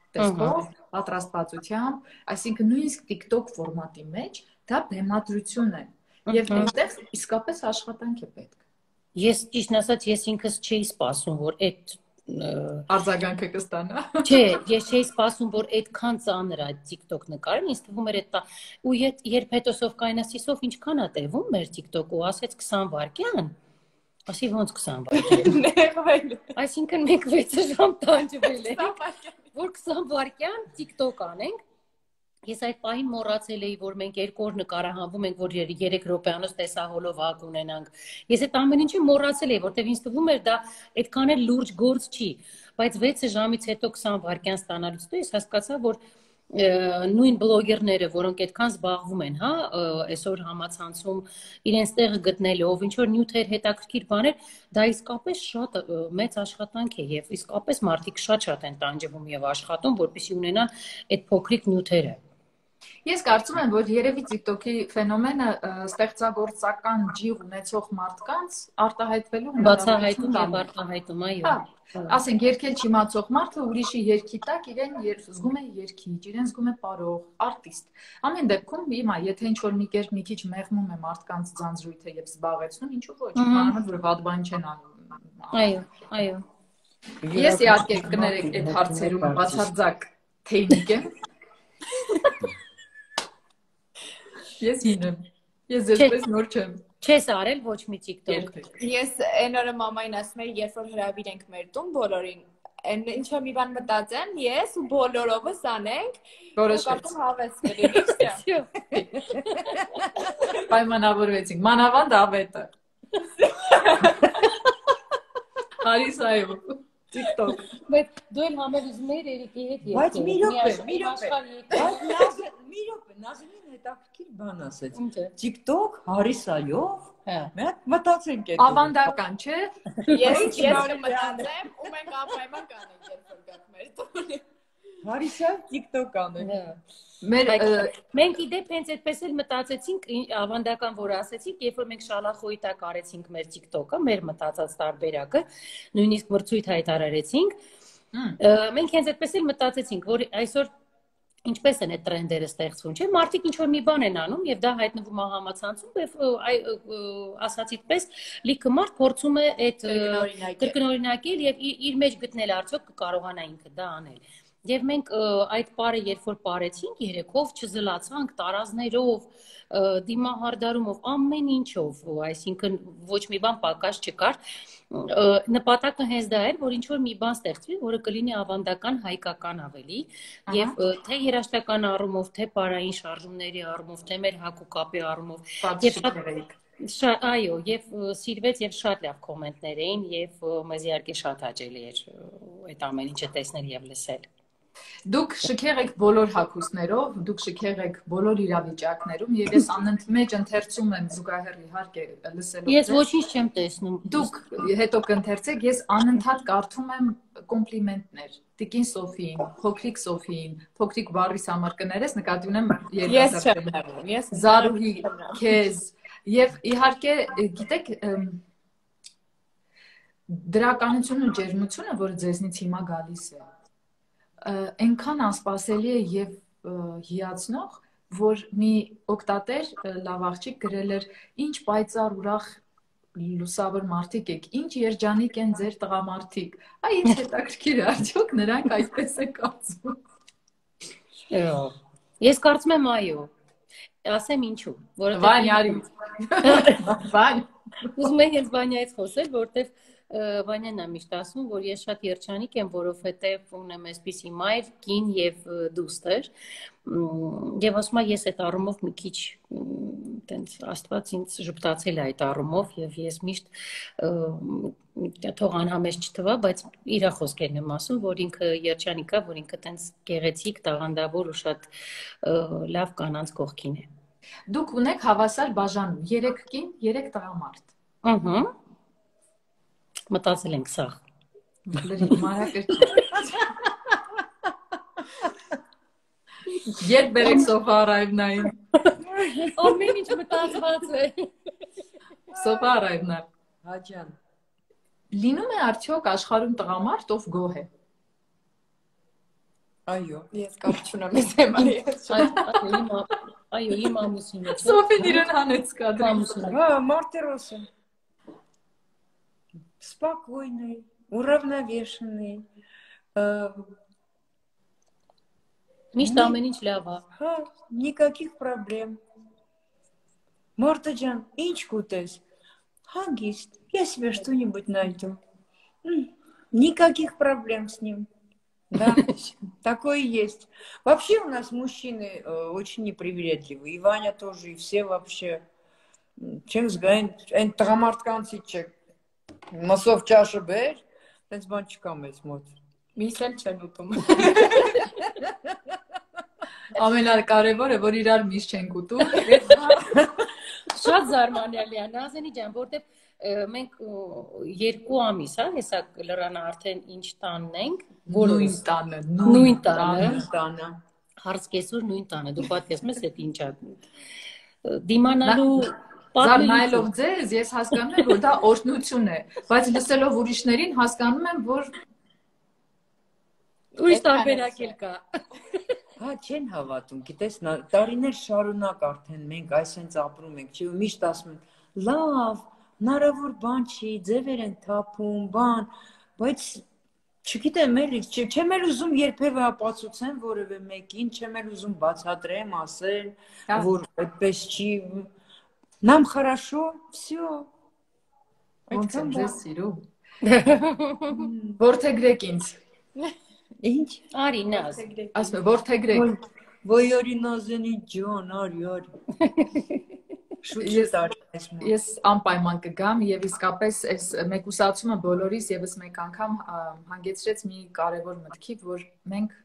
Տեսքով, պատրաստվածությամբ, այսինքն նույնիսկ TikTok ֆորմատի մեջ դա բեմադրություն է եւ այնտեղ իսկապես աշխատանք է պետք։ Ես ճիշտն ասած, ես ինքս չէի սպասում, որ այդ արձագանքը կստանա։ Չէ, ես չէի սպասում, որ այդքան ծանր է TikTok նկարեն, ինձ թվում էր այդ ու երբ հետո Սովկային ասիցով ինչքան է տևում մեր TikTok-ը, ասեց քսան վայրկյան։ Ասի ոնց քսան վայրկյան։ Նեղվել։ Այսինքն մենք վեց ժամ տանջվել ենք, որ քսան վայրկյան TikTok անենք։ Ես այդ պահին մոռացել էի, որ մենք երկու օր նկարահանվում ենք, որ երեք րոպեանոց տեսահոլով հակ ունենանք։ Ես այդ ամեն ինչը մոռացել էի, որտեղ ինձ թվում էր դա այդքան էլ լուրջ գործ չի, բայց վեց ժամից հետո քսան վայրկյան ստանալուց հետո ես հասկացա, որ նույն բլոգերները, որոնք այդքան զբաղվում են, հա, այսօր համացանցում իրենց տեղը գտնելով, ինչ որ նյութեր, հետաքրքիր բաներ, դա իսկապես շատ մեծ աշխատանք է եւ իսկապես մարդիկ շատ-շատ են տանջվում եւ աշխատում, որպեսզի ունենան այդ փոքրիկ նյութերը։ Ես կարծում եմ, որ երևի TikTok-ի ֆենոմենը ստեղծագործական ջիղ ունեցող մարդկանց արտահայտվելու բացահայտում եւ արտահայտում, այո։ Ասենք երգել չիմացող մարդը ուրիշի երգի տակ իրեն զգում է երգիչ, իրեն զգում է պարող, արտիստ։ Ամեն դեպքում հիմա եթե ինչ-որ մի կերպ մի քիչ մեղմում է մարդկանց ձանձրույթը եւ զբաղեցնում, ինչու ոչ, բանը որ վատ բան չեն անում։ Այո, այո։ Ես իհարկե կներեք այդ հարցերում բացարձակ թեյնիկ եմ։ Ես ինեմ։ Ես այսպես նոր չեմ։ Չես արել ոչ մի TikTok։ Ես այն օրը մամային ասում էի, երբ որ հրավիր ենք մեր տուն բոլորին, այն ինչ որ մի բան մտածեն, ես ու բոլորովս անենք, որոշվեց հավես կլինի։ Պայմանավորվեցինք, մանավանդ ավետը։ Հարիսայով TikTok։ Բայց դու էլ համել ուզում էիր Էրիկի հետ երկու։ Բայց մի րոպե, մի րոպե։ Մի րոպե, Նազենին հետաքրքիր բան ասեց։ TikTok Հարիսայով։ Մի հատ մտածենք այդ։ Ավանդական, չէ։ Ես ես մտածեմ ու մենք անպայման կանենք երբ որ գանք մեր տուն։ Հարիսայով TikTok անենք։ Մեր մենք իդեպ հենց այդպես էլ մտածեցինք, ավանդական որ ասեցինք, երբ որ մենք շալախոյի տակ արեցինք մեր TikTok-ը, մեր մտածած տարբերակը, նույնիսկ մրցույթ հայտարարեցինք, մենք հենց այդպես էլ մտածեցինք, որ այսօր ինչպես են այդ տրենդերը ստեղծվում, չէ՞, մարդիկ ինչ որ մի բան են անում եւ դա հայտնվում է համացանցում եւ ասացիդ պես լիքը մարդ փորձում է այդ կրկնօրինակել եւ իր մեջ գտնել արդյոք կկարողանա ինքը դա անել։ Եվ մենք այդ պարը երբ որ պարեցինք երեքով, չզլացանք տարազներով, դիմահարդարումով, ամեն ինչով, այսինքն ոչ մի բան պակաս չկար, նպատակը հենց դա էր, որ ինչ-որ մի բան ստեղծվի, որը կլինի ավանդական, հայկական ավելի, եւ թե երաժշտական առումով, թե պարային շարժումների առումով, թե մեր հագուկապի առումով, այո, եւ սիրվեց եւ շատ լավ կոմենտներ էին եւ մեզ իհարկե շատ հաճելի էր այդ ամեն ինչը տեսնել եւ լսել։ Դուք շքեղ եք բոլոր հագուստներով, դուք շքեղ եք բոլոր իրավիճակներում եւ ես անընդմեջ ընթերցում եմ զուգահեռ իհարկե լսելով։ Ես ոչինչ չեմ տեսնում։ Դուք հետո կընթերցեք, ես անընդհատ կարդում եմ կոմպլիմենտներ։ Տիկին Սոֆիին, փոքրիկ Սոֆիին, փոքրիկ Բարիս համար կներես, նկատի ունեմ երիտասարդների։ Ես Զարուհի, քեզ եւ իհարկե գիտեք դրականությունը ու ջերմությունը, որը ձեզնից հիմա գալիս է, այնքան անսպասելի է եւ հիացնող, որ մի օգտատեր լավ աղջիկ գրել էր ինչ պայծառ ուրախ լուսավոր մարդիկ եք, ինչ երջանիկ են ձեր տղամարդիկ։ Այ ինչ հետաքրքիր է, արդյոք նրանք այդպես են կարծում։ Ես կարծում եմ այո։ Ասեմ ինչու, որովհետեւ Վանյարի։ Վան։ Ուզում եմ հենց Վանյայից խոսել, որովհետեւ Վանյանն է միշտ ասում, որ ես շատ երջանիկ եմ, որովհետև ունեմ այսպիսի մայր, կին եւ դուստր, եւ ասում եմ ես այդ առումով մի քիչ տենց Աստված ինձ ժպտացել է այդ առումով եւ ես միշտ թող անհամեզ չթվա, բայց իր խոսքերն եմ ասում, որ ինքը երջանիկ է, որ ինքը տենց գեղեցիկ, տաղանդավոր ու շատ լավ կանանց կողքին է։ Դուք ունեք հավասար բաժանում, երեք կին, երեք տղամարդ։ Ահա Մտածել ենք սաղ։ Երբ բերեք սոֆա առայվնային։ Ամեն ինչ մտածված է։ Սոֆա առայվնա։ Հաջան։ Լինում է արդյոք աշխարհում տղամարդ, ով գոհ է։ Այո, ես կապ չունեմ այս թեմայի։ Այո, իմ ամուսինը։ Սոֆին իրեն հանեց կադրում։ Հա, Մարտիրոսը։ Спокойный, уравновешенный. Мишта ամեն ինչ լավ է։ Հա, никаких проблем. Мортаджан, ինչ կուտես։ Հանգիստ, я себе что-нибудь найду. Никаких проблем с ним. Да, такое есть. Вообще у нас мужчины очень непривередливые. И Ваня тоже, и все вообще. Чем сгань, այն տղամարդկանցից չէ։ Մասով ճաշը բեր, տենց բան չկա մեզ մոտ։ Միս էլ չեն ուտում։ Ամենակարևորը, որ իրար միս չենք ուտում։ Շատ զարմանալի է, Նազենի ջան, որտեվ մենք երկու ամիս, հա, հեսա լրանը արդեն ինչ տանն ենք, նույն տանը, նույն տանը, տանը։ Հարց կեսօր նույն տանը, դու պատկերացնում ես այդ ինչա։ Դիմանալու Զար նայելով ձեզ, ես հասկանում եմ, որ դա օրհնություն է, բայց լսելով ուրիշներին հասկանում եմ, որ ուրիշ տարբերակ էլ կա։ Հա, չեն հավատում, գիտես, տարիներ շարունակ արդեն մենք այսպես ապրում ենք, չէ՞, ու միշտ ասում են, լավ, հնարավոր բան չի, ձևեր են թափում, բան, բայց Չգիտեմ, էլի, չեմ էլ ուզում երբևէ ապացուցեմ որևէ մեկին, չեմ էլ ուզում բացատրեմ, ասել, որ այդպես չի։ Нам хорошо, всё։ Ոնց եմ ձեզ սիրում։ Որդեգրեք ինձ։ Ինչ։ Արի նազ։ Ասում եմ որդեգրեք։ Ոյ արի նազենի ջան, արի, արի։ Շուտ արես։ Ես անպայման կգամ եւ իսկապես այս մեկուսացումը բոլորիս եւս մեկ անգամ հանգեցրեց մի կարեւոր մտքի, որ մենք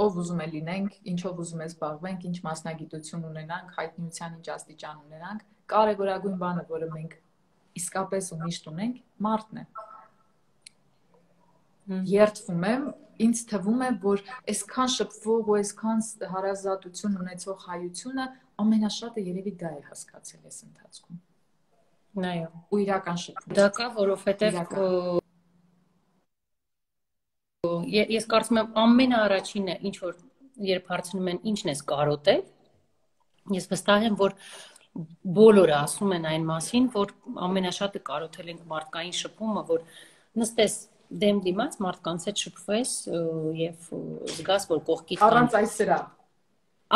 ով ուզում է լինենք, ինչով ուզում է զբաղվենք, ինչ մասնագիտություն ունենանք, հայտնիության ինչ աստիճան ունենանք, կարևորագույն բանը, որը մենք իսկապես ու միշտ ունենք, մարդն է։ Երդվում եմ, ինձ թվում է, որ այսքան շփվող ու այսքան հարազատություն ունեցող հայությունը ամենաշատը երևի դա է հասկացել այս ընթացքում։ Այո։ Ու իրական շփում։ Դա կա, որովհետև ես կարծում եմ ամենաառաջինը, ինչ որ երբ հարցնում են ինչն ես կարոտել, ես վստահ եմ, որ բոլորը ասում են այն մասին, որ ամենաշատը կարոտել ենք մարդկային շփումը, որ նստես դեմ դիմաց մարդկանց հետ շփվես եւ զգաս, որ կողքիդ առանց այս սրա։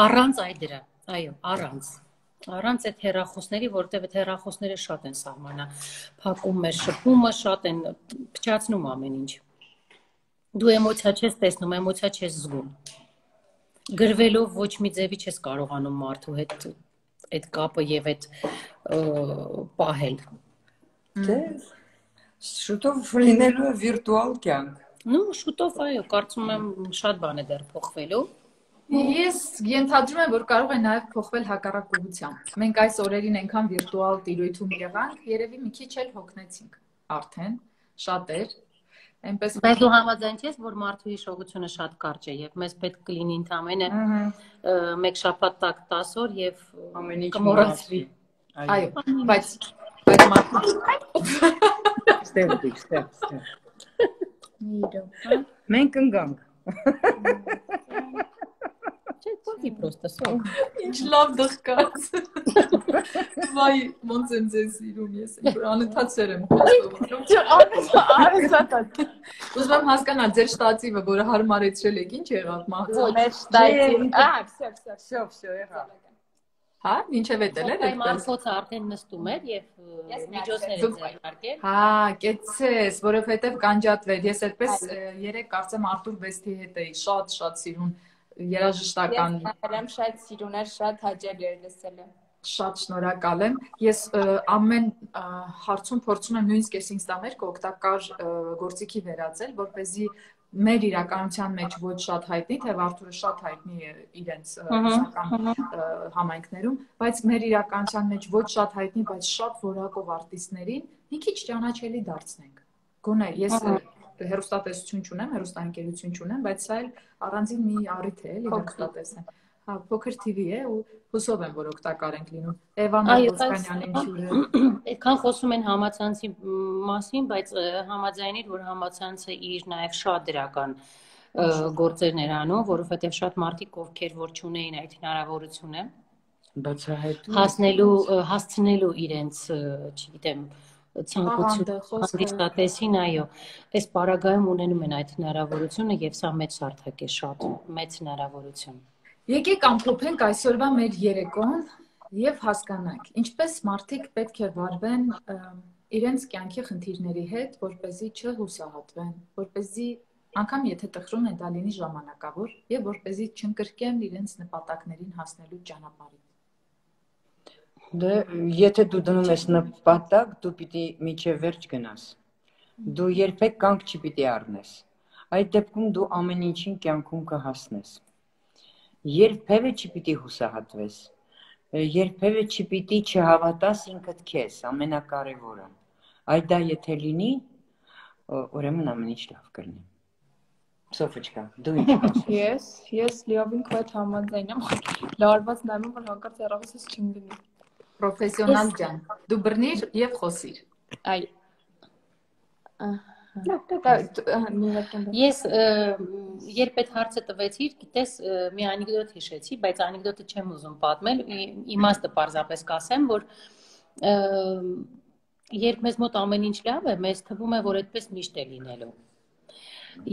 Առանց այդ դրա, այո, առանց։ Առանց այդ հեռախոսների, որտեղ այդ հեռախոսները շատ են սահմանա, փակում մեր շփումը, շատ են փչացնում ամեն ինչ։ Դու էմոցիա չես տեսնում, էմոցիա չես զգում։ Գրվելով ոչ մի ձևի չես կարողանում մարդու հետ այդ կապը եւ այդ պահել։ Դե շուտով լինելու է վիրտուալ կյանք։ Ну, շուտով այո, կարծում եմ շատ բան է դեռ փոխվելու։ Ես ենթադրում եմ, որ կարող է նաև փոխվել հակառակ ուղղությամբ։ Մենք այս օրերին այնքան վիրտուալ տիրույթում եղանք, երևի մի քիչ էլ հոգնեցինք արդեն, շատեր։ Այնպես Բայց դու համաձայն ես, որ մարդու հիշողությունը շատ կարճ է եւ մեզ պետք կլինի ընդամենը մեկ շաբաթ տակ տասը օր եւ ամեն ինչ կմոռացվի։ Այո, բայց բայց մարդու ստեղ դիք, ստեղ, ստեղ։ Մենք ընկանք։ Չէ, պոկի պրոստը սով։ Ինչ լավ դղկաց։ Վայ, ոնց եմ ձեզ սիրում ես, որ անընդհատ սեր եմ խոսում։ Չէ, անընդհատ։ Ուզում եմ հասկանալ ձեր շտատիվը, որը հարմարեցրել եք, ինչ եղավ մահացա։ Մեր շտատիվ։ Ահա, всё, всё, Всё, всё, եղավ։ Հա, ինչև էտել էր այդպես։ Մարդոցը արդեն նստում էր եւ միջոցներ էր ձեռնարկել։ Հա, կեցես, որովհետեւ կանջատվեր։ Ես այդպես երեք կարծեմ Արտուր Բեստի հետ էի, շատ-շատ սիրուն երաժշտական։ Ես շատ սիրուն էր, շատ հաճելի էր լսելը։ Շատ շնորհակալ եմ։ Ես ամեն հարցում փորձում եմ նույնիսկ ես ինձ տամերք օգտակար գործիքի վերածել, որպեսզի մեր իրականության մեջ ոչ շատ հայտնի, թե Արթուրը շատ հայտնի է իրենց ռուսական համայնքներում, բայց մեր իրականության մեջ ոչ շատ հայտնի, բայց շատ որակով արտիստներին մի քիչ ճանաչելի դարձնենք։ Գոնե ես հեռուստատեսություն չունեմ, հեռուստաընկերություն չունեմ, բայց սա էլ առանձին մի առիթ է, էլի հեռուստատեսն։ Հա, փոքր թի վի է ու հուսով եմ, որ օգտակար ենք լինում։ Էվան Ոսկանյանին հյուրը։ Այդքան խոսում են համացանցի մասին, բայց համաձայնիր, որ համացանցը իր նաև շատ դրական գործերներ անում, որովհետև շատ մարդիկ, ովքեր որ չունեին այդ հնարավորությունը, բացահայտում հասնելու, հասցնելու իրենց, չգիտեմ, ցանկություն հանդիսատեսին, այո, այս պարագայում ունենում են այդ հնարավորությունը եւ սա մեծ սարթակ է, շատ մեծ հնարավորություն։ Եկեք ամփոփենք այսօրվա մեր երեկոն եւ հասկանանք, ինչպես մարդիկ պետք է վարվեն իրենց կյանքի խնդիրների հետ, որպեսզի չհուսահատվեն, որպեսզի անգամ եթե տխրում են, դա լինի ժամանակավոր եւ որպեսզի չընկրկեն իրենց նպատակներին հասնելու ճանապարհին։ Դե եթե դու դնում ես նպատակ, դու պիտի միջև վերջ գնաս։ Դու երբեք կանգ չպիտի առնես։ Այդ դեպքում դու ամեն ինչին կյանքում կհասնես։ Երբևէ չպիտի հուսահատվես, երբևէ չպիտի չհավատաս ինքդ քեզ, ամենակարևորը։ Այդ դա եթե լինի, ուրեմն ամեն ինչ լավ կլինի։ Սոֆիչկա, դու ինչ ասես։ Ես, ես լիովին քո հետ համաձայն եմ, լարված նայում եմ, որ հանկարծ հեռախոսից չընկնի։ Պրոֆեսիոնալ ջան, դու բռնիր եւ խոսիր։ Այ։ Ես երբ այդ հարցը տվեցիր, գիտես, մի անեկդոտ հիշեցի, բայց անեկդոտը չեմ ուզում պատմել, իմաստը պարզապես կասեմ, որ երբ մեզ մոտ ամեն ինչ լավ է, մեզ թվում է, որ այդպես միշտ է լինելու։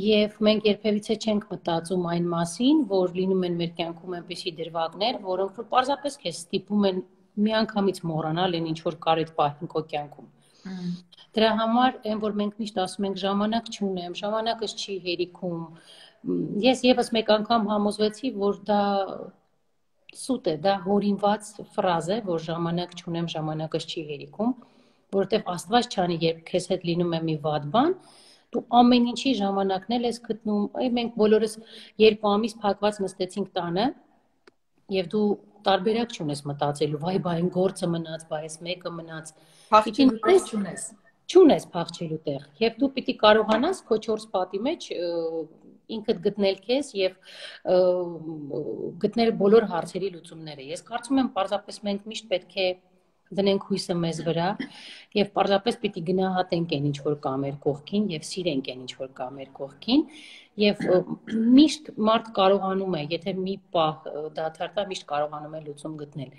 Եվ մենք երբևիցե չենք մտածում այն մասին, որ լինում են մեր կյանքում այնպիսի դրվագներ, որոնք որ պարզապես քեզ ստիպում են միանգամից մոռանալ այն ինչ որ կար այդ պահին քո կյանքում։ Դրա համար այն որ մենք միշտ ասում ենք ժամանակ չունեմ, ժամանակս չի հերիքում։ Ես եւս մեկ անգամ համոզվեցի, որ դա սուտ է, դա հորինված ֆրազ է, որ ժամանակ չունեմ, ժամանակս չի հերիքում, որովհետեւ Աստված չանի, երբ քեզ հետ լինում է մի վատ բան, դու ամեն ինչի ժամանակն էլ ես գտնում, այ մենք բոլորս երկու ամիս փակված նստեցինք տանը եւ դու տարբերակ չունես մտածելու, վայ բա այն գործը մնաց, բա այս մեկը մնաց, փախչելու տեղ չունես, չունես փախչելու տեղ եւ դու պիտի կարողանաս քո չորս պատի մեջ ինքդ գտնել քեզ եւ գտնել բոլոր հարցերի լուծումները։ Ես կարծում եմ պարզապես մենք միշտ պետք է դնենք հույսը մեզ վրա եւ պարզապես պիտի գնահատենք այն ինչ որ կա մեր կողքին եւ սիրենք այն ինչ որ կա մեր կողքին եւ միշտ մարդ կարողանում է, եթե մի պահ դադարտա, միշտ կարողանում է լուծում գտնել։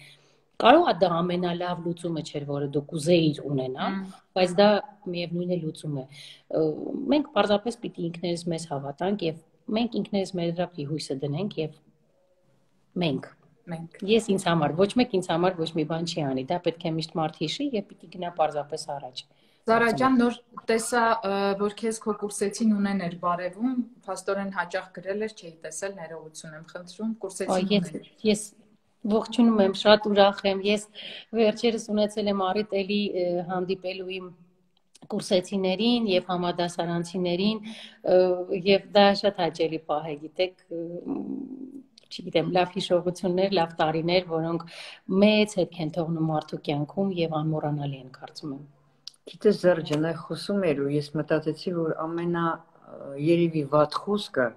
Կարող է դա ամենալավ լուծումը չէր, որը դու կուզեիր ունենալ, բայց դա միևնույն է լուծում է։ Մենք պարզապես պիտի ինքներս մեզ հավատանք եւ մենք ինքներս մեր վրա պիտի հույսը դնենք եւ մենք Մենք ես ինձ համար ոչ մեկ ինձ համար ոչ մի բան չի անի, դա պետք է միշտ մարդ հիշի եւ պիտի գնա պարզապես առաջ։ Զարա ջան, նոր տեսա, որ քեզ քո կուրսեցին ունեն էր բարևում, փաստորեն հաճախ գրել էր, չէի տեսել, ներողություն եմ խնդրում, կուրսեցին ունեն։ Ես ողջունում եմ, շատ ուրախ եմ։ Ես վերջերս ունեցել եմ առիթ էլի հանդիպելու իմ կուրսեցիներին եւ համադասարանցիներին եւ դա շատ հաճելի պահ է, գիտեք, չգիտեմ, լավ հիշողություններ, լավ տարիներ, որոնք մեծ հետք են թողնում մարդու կյանքում եւ անմոռանալի են, կարծում եմ։ Գիտես Զարա ջան, այ խոսում էր ու ես մտածեցի, որ ամենա երևի վատ խոսքը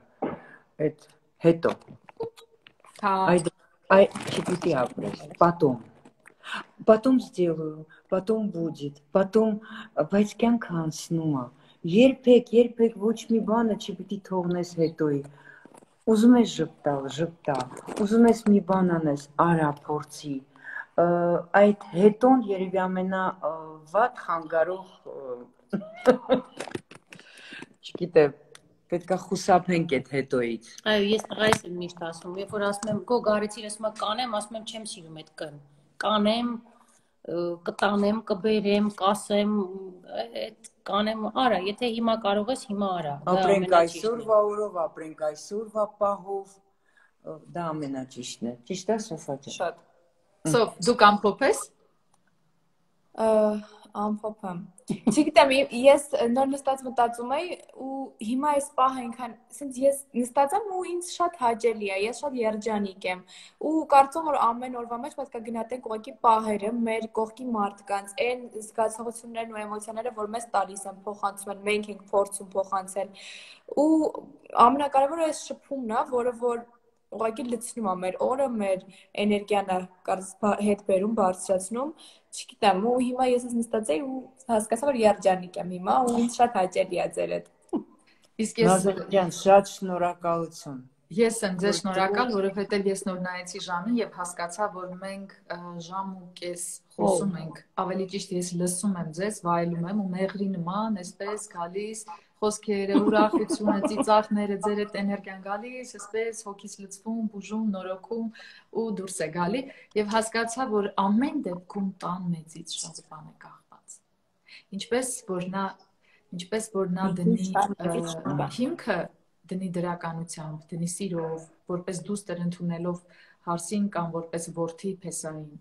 այդ հետո։ Հա։ Այդ այ չպիտի ապրես, потом. Потом сделаю, потом будет, потом, բայց կյանքը անցնում է։ Երբեք, երբեք ոչ մի բանը չպիտի թողնես հետոյի։ Ուզում ես ժպտալ, ժպտալ, ուզում ես մի բան անես, արա, փորձի, այդ հետոն երևի ամենա վատ խանգարող, չգիտեմ, պետք է խուսափենք այդ հետոյից։ Այո, ես տղայիս եմ միշտ ասում, երբ որ ասում եմ, գո գարեցիր, ասում եմ կանեմ, ասում եմ չեմ սիրում այդ կն, կանեմ, կտանեմ, կբերեմ, կասեմ, այդ կանեմ, արա, եթե հիմա կարող ես, հիմա արա։ Ապրենք այսօրվա օրով, ապրենք այսօրվա պահով, դա ամենաճիշտն է։ Ճիշտ է, Սոֆա ջան։ Շատ։ Սոֆ, դու կամփոփես։ Ամփոփեմ։ Չգիտեմ, ես նոր նստած մտածում էի ու հիմա այս պահը այնքան, ասենց ես նստած եմ ու ինձ շատ հաճելի է, ես շատ երջանիկ եմ ու կարծում որ ամեն օրվա մեջ պետք է գնահատենք ուղղակի պահերը, մեր կողքի մարդկանց, այն զգացողություններն ու էմոցիաները, որ մեզ տալիս են, փոխանցում են, մենք ենք փորձում փոխանցել ու ամենակարևորը այս շփումն է, որը որ ուղղակի լցնում է մեր օրը, մեր էներգիան է հետ բերում, բարձրացնում, չգիտեմ, ու հիմա ես ես նստած էի ու հասկացա, որ երջանիկ եմ հիմա ու ինձ շատ հաճելի է ձեր հետ։ Իսկ ես Նազար ջան, շատ շնորհակալություն։ Ես եմ ձեզ շնորհակալ, որովհետև ես նոր նայեցի ժամին եւ հասկացա, որ մենք ժամ ու կես խոսում ենք, ավելի ճիշտ ես լսում եմ ձեզ, վայելում եմ ու մեղրի նման, այսպես գալիս խոսքերը, ուրախությունը, ծիծաղները, ձեր այդ էներգիան գալիս, այսպես հոգիս լցվում, բուժում, նորոգում ու դուրս է գալի եւ հասկացա, որ ամեն դեպքում տան մեծից շատ բան է կախված։ Ինչպես որ նա, ինչպես որ նա դնի հիմքը, դնի դրականությամբ, դնի սիրով, որպես դուստր ընդունելով հարսին կամ որպես որդի փեսային։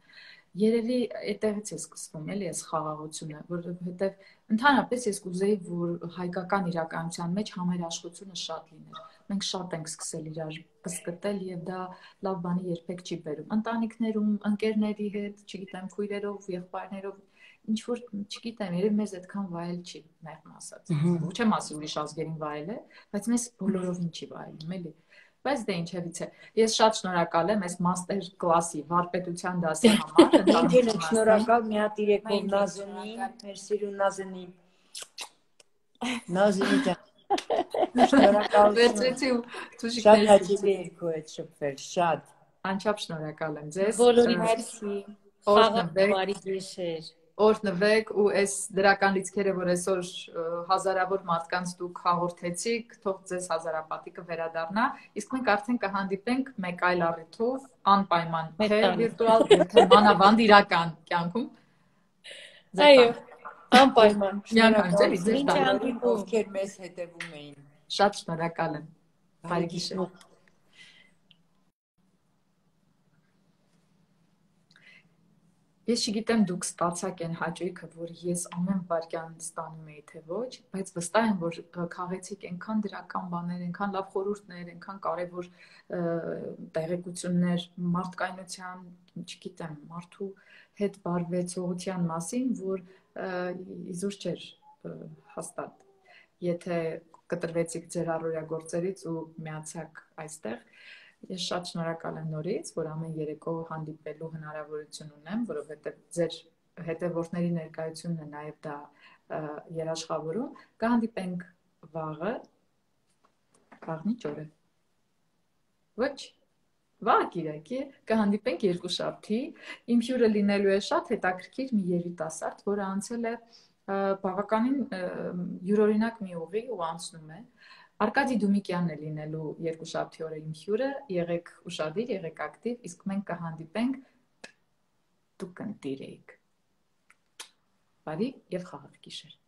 Երևի այդտեղից է սկսվում, էլի այս խաղաղությունը, որովհետև ընդհանրապես ես կուզեի, որ հայկական իրականության մեջ համերաշխությունը շատ լիներ։ Մենք շատ ենք սկսել իրար կսկտել եւ դա լավ բանի երբեք չի բերում։ Ընտանիքներում, ընկերների հետ, չգիտեմ, քույրերով, եղբայրներով, ինչ որ, չգիտեմ, երբ մեզ այդքան վայել չի, մեղմ ասած։ Չեմ ասի ուրիշ ազգերին վայել է, բայց մեզ բոլորովին չի վայելում, էլի։ Բայց դե ինչևից է։ Ես շատ շնորհակալ եմ այս մաստեր կլասի վարպետության դասի համար։ Մենք էլ ենք շնորհակալ մի հատ իրեկով Նազենին, մեր սիրուն Նազենին։ Նազենի ջան։ Շնորհակալություն։ Վերցրեցի ու դուժիկ շատ հաճելի էր քո հետ շփվել, շատ։ Անչափ շնորհակալ եմ ձեզ։ Բոլորի մերսի։ Օրհնվեք, բարի գիշեր։ օրհնվեք ու այս դրական լիցքերը, որ այսօր հազարավոր մարդկանց դուք հաղորդեցիք, թող ձեզ հազարապատիկը վերադառնա, իսկ մենք արդեն կհանդիպենք մեկ այլ առիթով, անպայման թե վիրտուալ, թե մանավանդ իրական կյանքում։ Այո, անպայման։ Շնորհակալ եմ բոլորին, ովքեր մեզ հետևում էին։ Շատ շնորհակալ եմ։ Բարի գիշեր։ Ես չգիտեմ դուք ստացաք այն հաճույքը, որ ես ամեն վայրկյան ստանում էի, թե ոչ, բայց վստահ եմ, որ քաղեցիք այնքան դրական բաներ, այնքան լավ խորհուրդներ, այնքան կարևոր տեղեկություններ մարդկայնության, չգիտեմ, մարդու հետ բարվեցողության մասին, որ իզուր չէր հաստատ։ Եթե կտրվեցիք ձեր առօրյա գործերից ու միացաք այստեղ, ես շատ շնորհակալ եմ նորից, որ ամեն երեկո հանդիպելու հնարավորություն ունեմ, որովհետև ձեր հետևորդների ներկայությունն է նաև դա երաշխավորում, կհանդիպենք վաղը, վաղն ինչ օր է։ Ոչ, վաղ կիրակի, կհանդիպենք երկուշաբթի, իմ հյուրը լինելու է շատ հետաքրքիր մի երիտասարդ, որը անցել է բավականին յուրօրինակ մի ուղի ու անցնում է։ Արկադի Դումիկյանն է լինելու երկուշաբթի օրը իմ հյուրը, եղեք ուշադիր, եղեք ակտիվ, իսկ մենք կհանդիպենք, դուք կընտիր էիք։ Բարի և խաղաղ գիշեր։